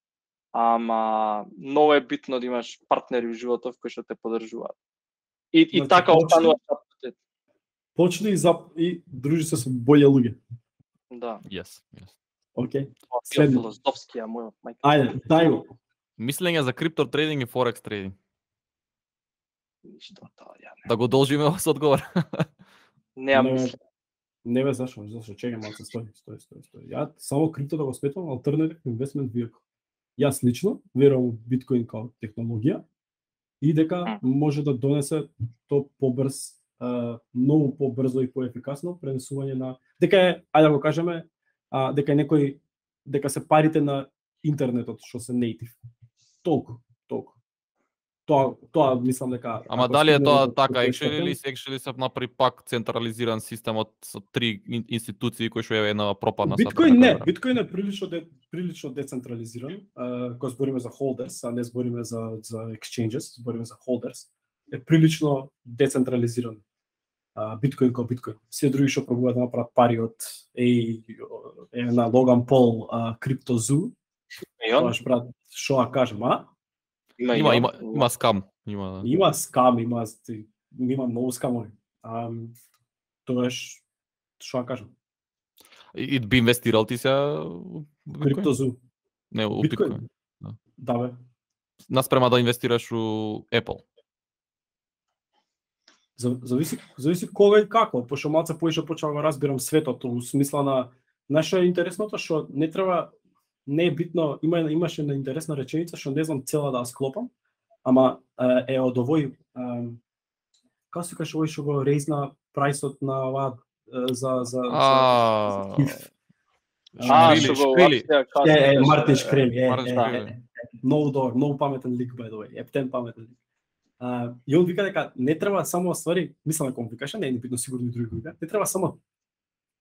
Ама многу е битно да имаш партнери во животот кои што те поддржуваат. И така останува up to date. Почни и дружи се со бољи луѓе. Да. Yes. Окей. Филозофски, мој мајка. Ајде, дај го. Мислење за крипто трейдинг и форекс трейдинг. Ништо тоа ја не. Да го должиме со одговор. Не бе, зашо, чекај малку, стои. Ја само крипто да го сметам алтернатив инвестмент vehicle. Јас лично верувам во биткоин као технологија и дека може да донесе то побрз, многу побрзо и поефикасно пренесување на дека ајде да го кажеме, дека се парите на интернетот што се native. Толку. Тоа мислам дека. Ама дали е тоа така actually се направи пак централизиран систем со три институции кои што е една пропадна сад. Биткоин е прилично децентрализиран. Кога збориме за holders, а не збориме за exchanges, збориме за holders, е прилично децентрализиран. Биткоин како биткоин. Се други што пробуваат да направат пари од на Логан Пол, CryptoZoo. Тоа брат, што да кажем, Има скам. Има скам, има многу скамови. Тогаш, што да кажем? И би инвестирал ти се CryptoZoo? Не, у биткоин. Да бе. Наспрема да инвестираш у Apple. Зависи кога и како, пошто малце поише почнав да разбирам светот, у смисла на нашо е интересното што не е битно, имаше на интересна реченица што не знам цела да ја склопам, ама е од овој како се каже овој што го рейзна прајсот на ова за Мартин Шкрели. Многу добар, многу паметен лик by the way, ептен паметен лик. И он вика дека не треба само ствари, мислам дека он викаше, не е битно сигурно и други вика, не треба само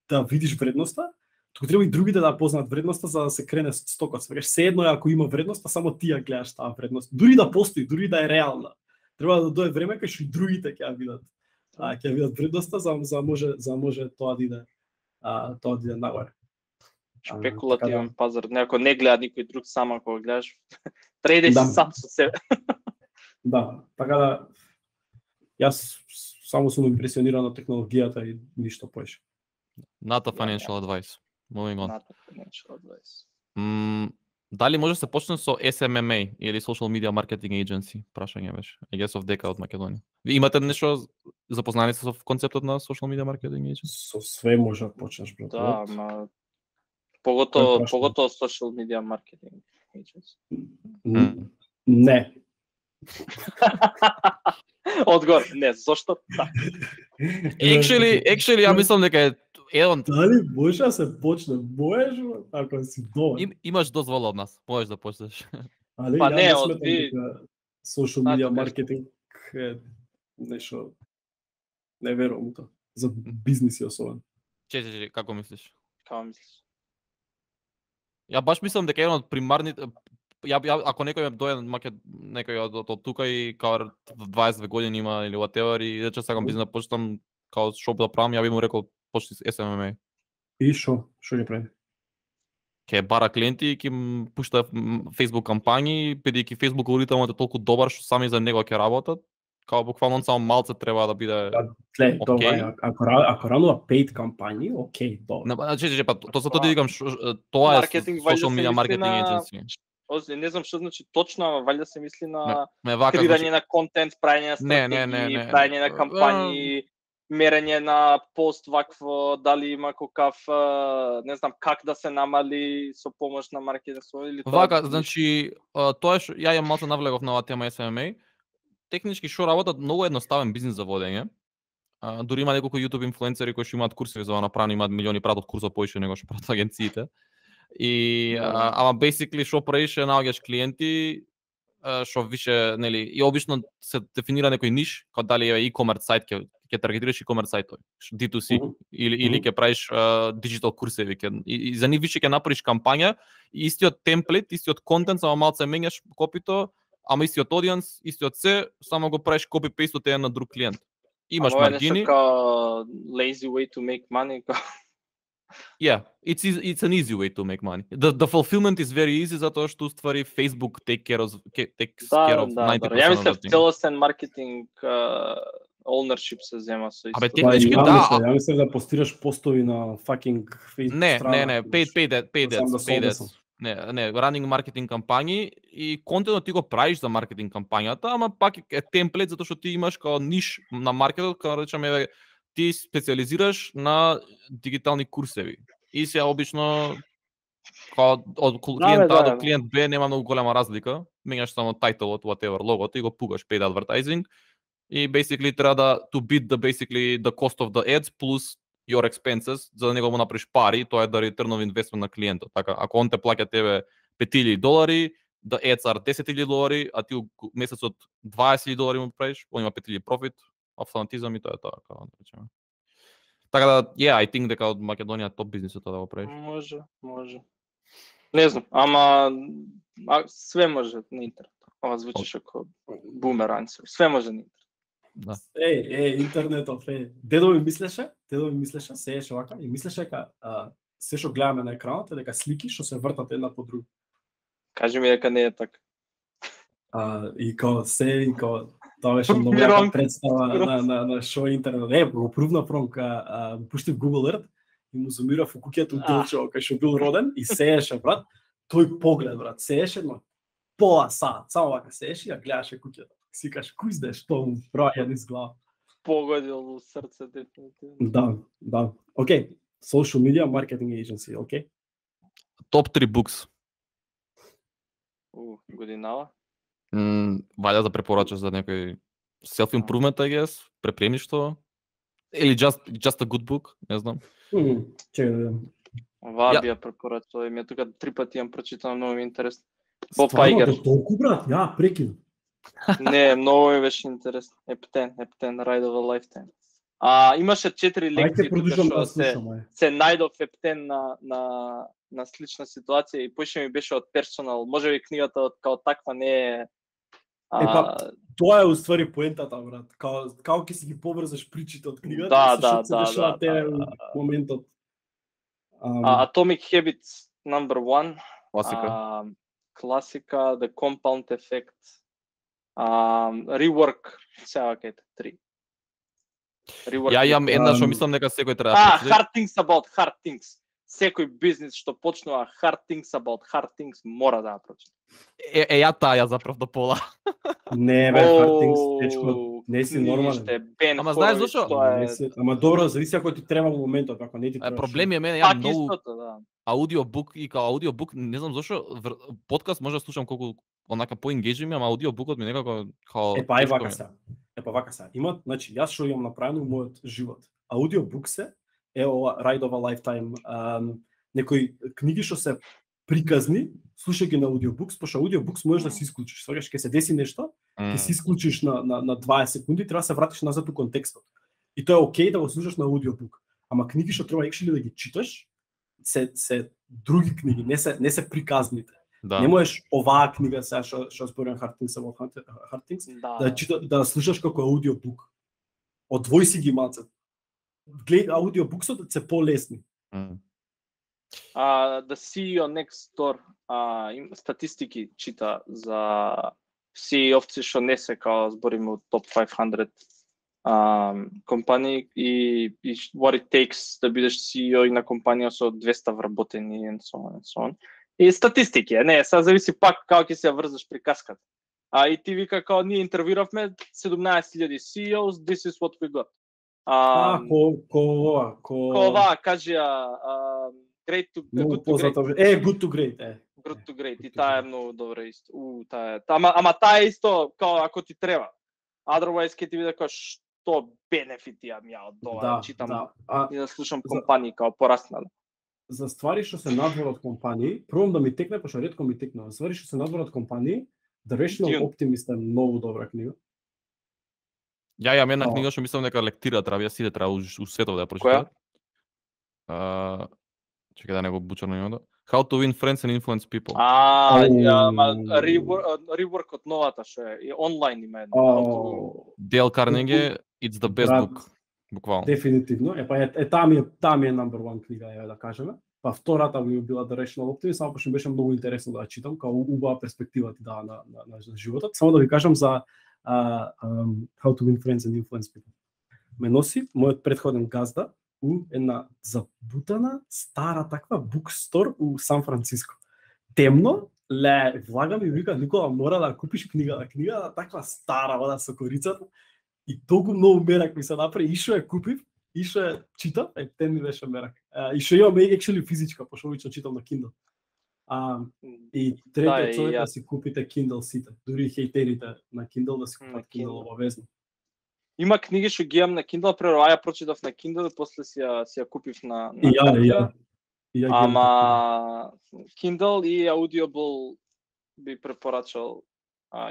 да видиш вредноста, туку треба и другите да познаат вредноста за да се крене стокот. Свегаш се едно ако има вредност, само ти ја гледаш таа вредност. Дури да постои, дури да е реална. Треба да дое време кога што и другите ќе ја видат. Ќе ја видат вредноста за може тоа да иде нагоре. Шпекулативен пазар, ако не гледа никој друг, само ако го гледаш, трейдеш сам со себе. Да, така да јас само сум импресиониран од технологијата и ништо поише. Not a financial advice. Moving on. Not a financial advice. Дали може да се почне со SMMA или Social Media Marketing Agency? Прашање беше. I guess of дека од Македонија. Ви имате нешто запознани со концептот на Social Media Marketing Agency? Со све може да почнеш, брат. Да, ама поготово Social Media Marketing Agency. Не. Одговор, не, зошто? Actually, ја мислам дека е еден. Дали може да се почне? Можеш, ако си добар. Имаш дозвола од нас, можеш да почнеш. Але Па ја не, не од сметам ви- дека social Да, media тоа кажеш. маркетинг е нешто не верувам у тоа. За бизниси особено. Че, како мислиш? Како мислиш? Ја баш мислам дека еден од примарните ако некој дојде некој од тука и као 22 години има или whatever и рече сакам бизнес да почнам као шоп да правам, ја би му рекол почни с SMMA. И што ќе прави? Ќе бара клиенти и ќе им пушта Facebook кампањи, бидејќи Facebook алгоритмот е толку добар што сами за него ќе работат. Као буквално само малце треба да биде. Гледај, тоа Окей. е, ако ранува paid кампањи, окей, добро. Значи, па тоа тоа ти викам, тоа е Маркетинг, вајде social се media мисли marketing на- agency. Не знам што значи точно, ама валјда се мисли на Не вака, креирање на контент, правење на Не, стратегии, не. правење на кампањи, мерење на пост вакво, дали има какав, не знам как да се намали со помош на маркетинг или тоа. Вака, значи, тоа е што ја малку навлегов на оваа тема SMMA. Технички што работат многу едноставен бизнис за водење. Дури има неколку YouTube инфлуенцери кои што имаат курсови за направено, имаат милиони пратат курсот поише него што пратат агенциите. И ама basically што правиш е наоѓаш клиенти што више, нели, и обично се дефинира некој ниш, како дали е e-commerce сайт ќе таргетираш e-commerce сајтови, D2C или ќе правиш digital курсеви, и за нив више ќе направиш кампања, и истиот темплет, истиот контент, само малце менјаш копито, ама истиот audience, истиот се, само го правиш копи-пейст од еден на друг клиент. Имаш маргини. Ама lazy way to make money. Yeah, it's an easy way to make money. The fulfillment is very easy затоа што уствари Facebook takes care of 90%. Ја мислев целосен маркетинг ownership се зема со исто. Абе технички Ја мислев да постираш постови на fucking Facebook Не, paid ads. Не, running маркетинг кампањи и контентот ти го правиш за маркетинг кампањата, ама пак е темплет затоа што ти имаш као ниш на маркетот, као речеме ти специализираш на дигитални курсеви. И се обично као од клиент А до клиент Б нема многу голема разлика, менјаш само тайтелот, whatever, логото и го пугаш paid advertising и basically треба да to beat the cost of the ads plus your expenses, за да него му направиш пари, тоа е да return of investment на клиентот. Така, ако он те плаќа тебе $5,000, the ads are $10,000, а ти месецот $20,000 му правиш, он има $5,000 профит, автоматизам и тоа е тоа, како да речеме. Така да, I think дека од Македонија топ бизнисот да го правиш. Може. Не знам, ама све може на интернет. Ова звучиш како бумер ансер. Све може на интернет. Да. Интернетот, дедо ми мислеше, се еше вака, и мислеше дека се што гледаме на екранот е дека слики што се вртат една по друга. Кажи ми дека не е така. И као тоа беше многу јака представа на шоу интернет. Го прувна промка, пуштив Google Earth и му зумирав у куќето делчево кај што бил роден и сееше, брат, тој поглед, брат, сееше, но пола саат, само вака сееше и ја гледаше куќето. Си кажеш, кој знаеш што му праја низ глава. Погодил во срце дефинитивно. Да. Океј, social media marketing agency, океј. Топ 3 books. Годинава. Валја да препорачаш за некој self-improvement, I guess, препремништво, или just a good book, не знам. Чекај. Ова би ја препорачал, ми тука 3 пати јам прочитано, многу ми интересно. Боб Айгер. Толку, брат, ја прекинам. Не, многу ми беше интересно. Ептен, Ride of a Lifetime. Имаше 4 лекции тука што се најдов ептен на слична ситуација и поише ми беше од персонал. Можеби книгата као таква не е тоа е уствари поентата, брат. Као ќе си ги поврзаш причите од книгата, да, се дешава тебе моментот. Atomic Habits number 1. Класика, The Compound Effect. Rework, сега кајте 3. Ја имам една што мислам дека секој треба да прочита. Hard Things About Hard Things. Секој бизнис што почнува Hard Things About Hard Things мора да ја прочита. Ја таа заправ до пола. Не бе, Hard Things, дечко, не си нормален. Ама знаеш зашо? Ама добро, зависи ако ти треба во моментот, ако не ти треба. Проблем е мене, ја многу аудиобук и као аудиобук, не знам зашо, подкаст може да слушам колку онака по-енгејджи, ама аудиобукот ми некако као вака се. Имат, значи јас што имам направено во мојот живот. Аудиобук се е ова Ride of a Lifetime, некои книги што се приказни, слушај ги на аудиобукс, пошто аудиобукс можеш да се исклучиш. Сваќаш ќе се деси нешто, ќе се исклучиш на 20 секунди, треба да се вратиш назад у контекстот. И тоа е окей да го слушаш на аудиобук. Ама книги што треба actually да ги читаш, се други книги, не се приказните. Да. Не можеш оваа книга сега што зборувам Hard Things, да слушаш како аудиобук. Одвој си ги малце. Гледај аудиобуксот се полесни. The CEO Next Door статистики чита за CEO-овци што не се као збориме од топ 500 компании и what it takes да бидеш CEO и на компанија со 200 вработени and so on. И статистики, не, сега зависи пак како ќе се врзаш приказката. И ти вика као ние интервјуравме 17,000 CEOs, this is what we got. Ова кажи great to good to great. Good to great, Good to great. И таа е многу добра исто. Ама таа е исто као ако ти треба. Otherwise ќе ти биде као што бенефити ја од тоа, читам и да слушам компании као пораснали. За ствари што се надвор од компании, првом да ми текне, пошто ретко ми текне, за ствари што се надвор од компании, The Rational Optimist е многу добра книга. Ја имам една книга што мислам дека лектира треба, јас сите треба у светот да ја прочитам. Чекај да не го бучарам името. How to win friends and influence people. Rework од новата што е онлайн има една. Дейл Карнеги, it's the best book. Буквално. Дефинитивно. Таа ми е number one книга, ја да кажеме. Па втората ми била The Rational Optimist, само што беше многу интересно да ја читам, као убава перспектива ти дава на животот. Само да ви кажам за How to win friends and influence people. Ме носи мојот претходен газда у една забутана, стара таква букстор у Сан Франциско. Темно, влагам и вика, Никола, мора да купиш книга таква стара, вода со корицата. И толку многу мерак ми се направи, и што ја купив, и што ја читам, тен ми беше мерак. И што имам actually физичка, пошто обично читам на Kindle. И третиот совет да си купите Kindle сите, дури хейтерите на Kindle да си купат Kindle обавезно. Има книги што ги имам на Kindle, прво ја прочитав на Kindle и после си ја купив на Ја. Ама Kindle и Audible би препорачал.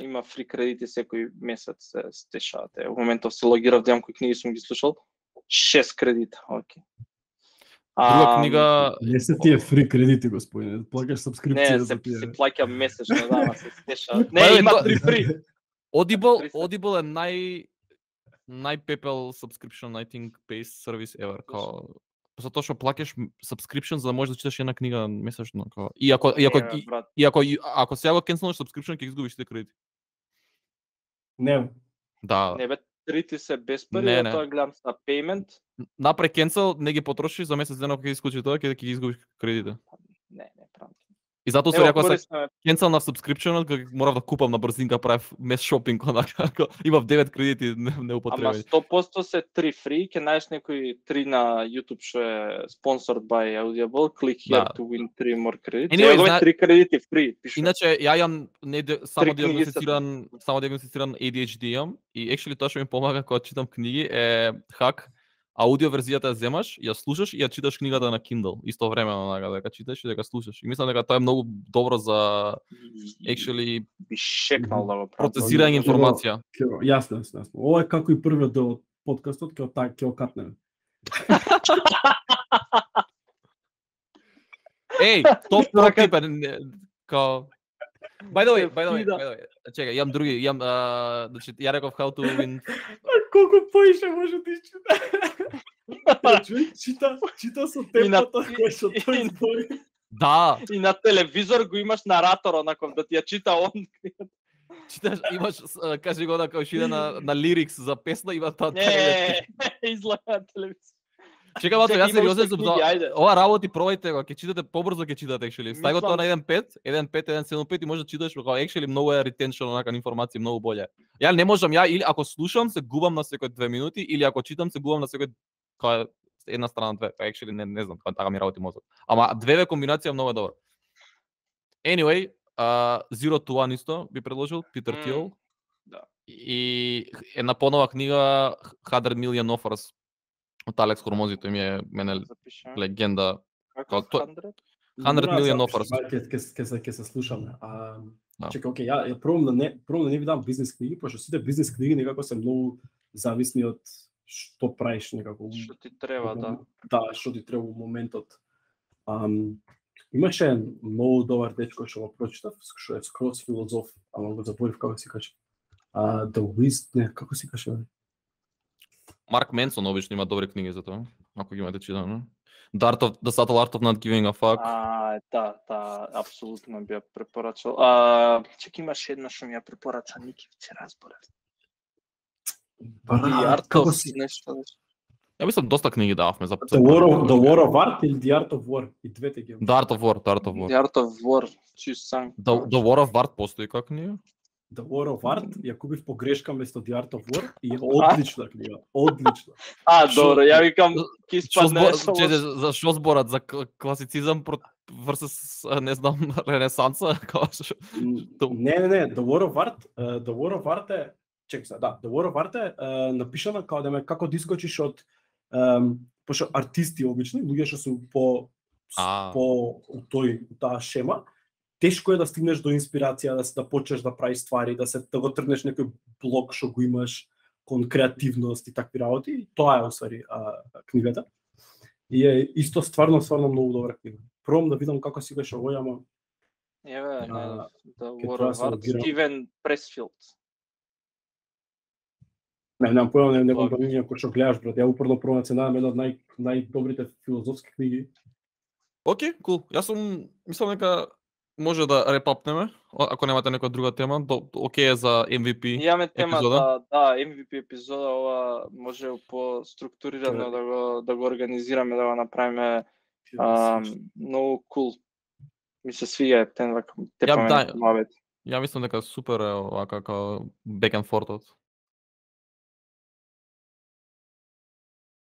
Има фри кредити секој месец се стешаат. Во моментов се логирав да имам кои книги сум ги слушал. 6 кредита, окей. Друга книга... Не се тие фри кредити, господине, плаќаш сабскрипција за тие. Не, се плаќа месечно, да, се стешаат. Не, има 3 фри. Audible е најпепел subscription, I think, based service ever. Затоа што плаќаш subscription за да можеш да читаш една книга месечно. И ако сега го кенселнеш subscription, ќе изгубиш тие кредити. Не. Да. Не бе, трите се без пари, тоа гледам на payment. Напре кенсел, не ги потрошиш за месец дена кога ќе исклучи тоа, ќе ги изгубиш кредитите. Не, правам. И затоа се рекол се кенсел на subscription, морав да купам на брзинка, правев мес шопинг, онака, имав 9 кредити неупотребени. Ама 100% се 3 фри, ќе најдеш некои 3 на YouTube што е sponsored by Audible, click here to win 3 more credits. Негови 3 кредити фри, пише. Иначе ја имам само диагностициран ADHD имам и actually тоа што ми помага кога читам книги е хак. Аудио верзијата ја земаш, ја слушаш и ја читаш книгата на Kindle истовремено, дека читаш и дека слушаш. И мислам дека тоа е многу добро за actually би шекнал да го процесирање информација. Јасно. Ова е како и првиот дел од подкастот, ќе окатнеме. Топ тип као By the way, чекај, јам други, значи ја реков how to win. Колку поише може да изчита? Чита со темпото кој што тој збори. Да. И на телевизор го имаш наратор, онаков да ти ја чита он. Читаш, имаш, кажи го дека иде на лирикс за песна, има тоа. Не, излага телевизор. Чекај малку, јас сериозен сум за ова работи, пробајте го, ќе читате побрзо, ќе читате actually. Стај го тоа на 1.5, 1.7.5 и може да читаш како actually многу е retention онака информација многу боле. Ја не можам, или ако слушам се губам на секој 2 минути или ако читам се губам на секој една страна две. Actually не знам, така ми работи мозок. Ама две комбинација многу добра. Anyway, Zero to One исто би предложил Питер Тил. Да. И една понова книга 100 Million Offers од Алекс Хормози, тој ми е мене легенда. Како 100? 100 million offers. Ке се слушаме. Чекај, окей, ја пробам да не ви дам бизнес книги, пошто сите бизнес книги некако се многу зависни од што правиш некако. Што ти треба, да. Да, што ти треба во моментот. Имаше многу добар дечко што го прочитав, што е скроз филозоф, ама го заборив како се каже. Како се каже? Марк Менсон обично има добри книги за тоа, ако ги имате читано. The Subtle Art of Not Giving a Fuck. Да, апсолутно би ја препорачал. Чек, имаше една што ми ја препорача, Ники ќе разборев. Како си нешто? Ја мислам доста книги дававме за The War of Art или The Art of War, и двете ги. The Art of War. The Art of War, чисам. The War of Art постои како книга? The War of Art, ја купив по грешка место The Art of War и е одлична книга, одлична. Добро, ја викам ќе испадне за што зборат за класицизам versus не знам Ренесанса, Не, The War of Art е The War of Art е напишана како да искочиш од пошто артисти обични, луѓе што се по таа шема. Тешко е да стигнеш до инспирација, да почнеш да правиш ствари, да го тргнеш некој блок што го имаш кон креативност и такви работи. Тоа е усвари книгата. И е исто стварно многу добра книга. Пробам да видам како си беше овој, ама The War of Art, Стивен Пресфилд. Немам појма, не компанија кој што гледаш, брат. Ја упорно пробам да се најдам една од најдобрите филозофски книги. Окей, кул. Јас мислам дека може да репапнеме, ако немате некоја друга тема, окей е за MVP епизода. Имаме тема да MVP епизода, ова може по структурирано да го организираме, да го направиме многу кул. Ми се свија тен вака тепаме мавет. Ја мислам дека супер е ова како back and forth.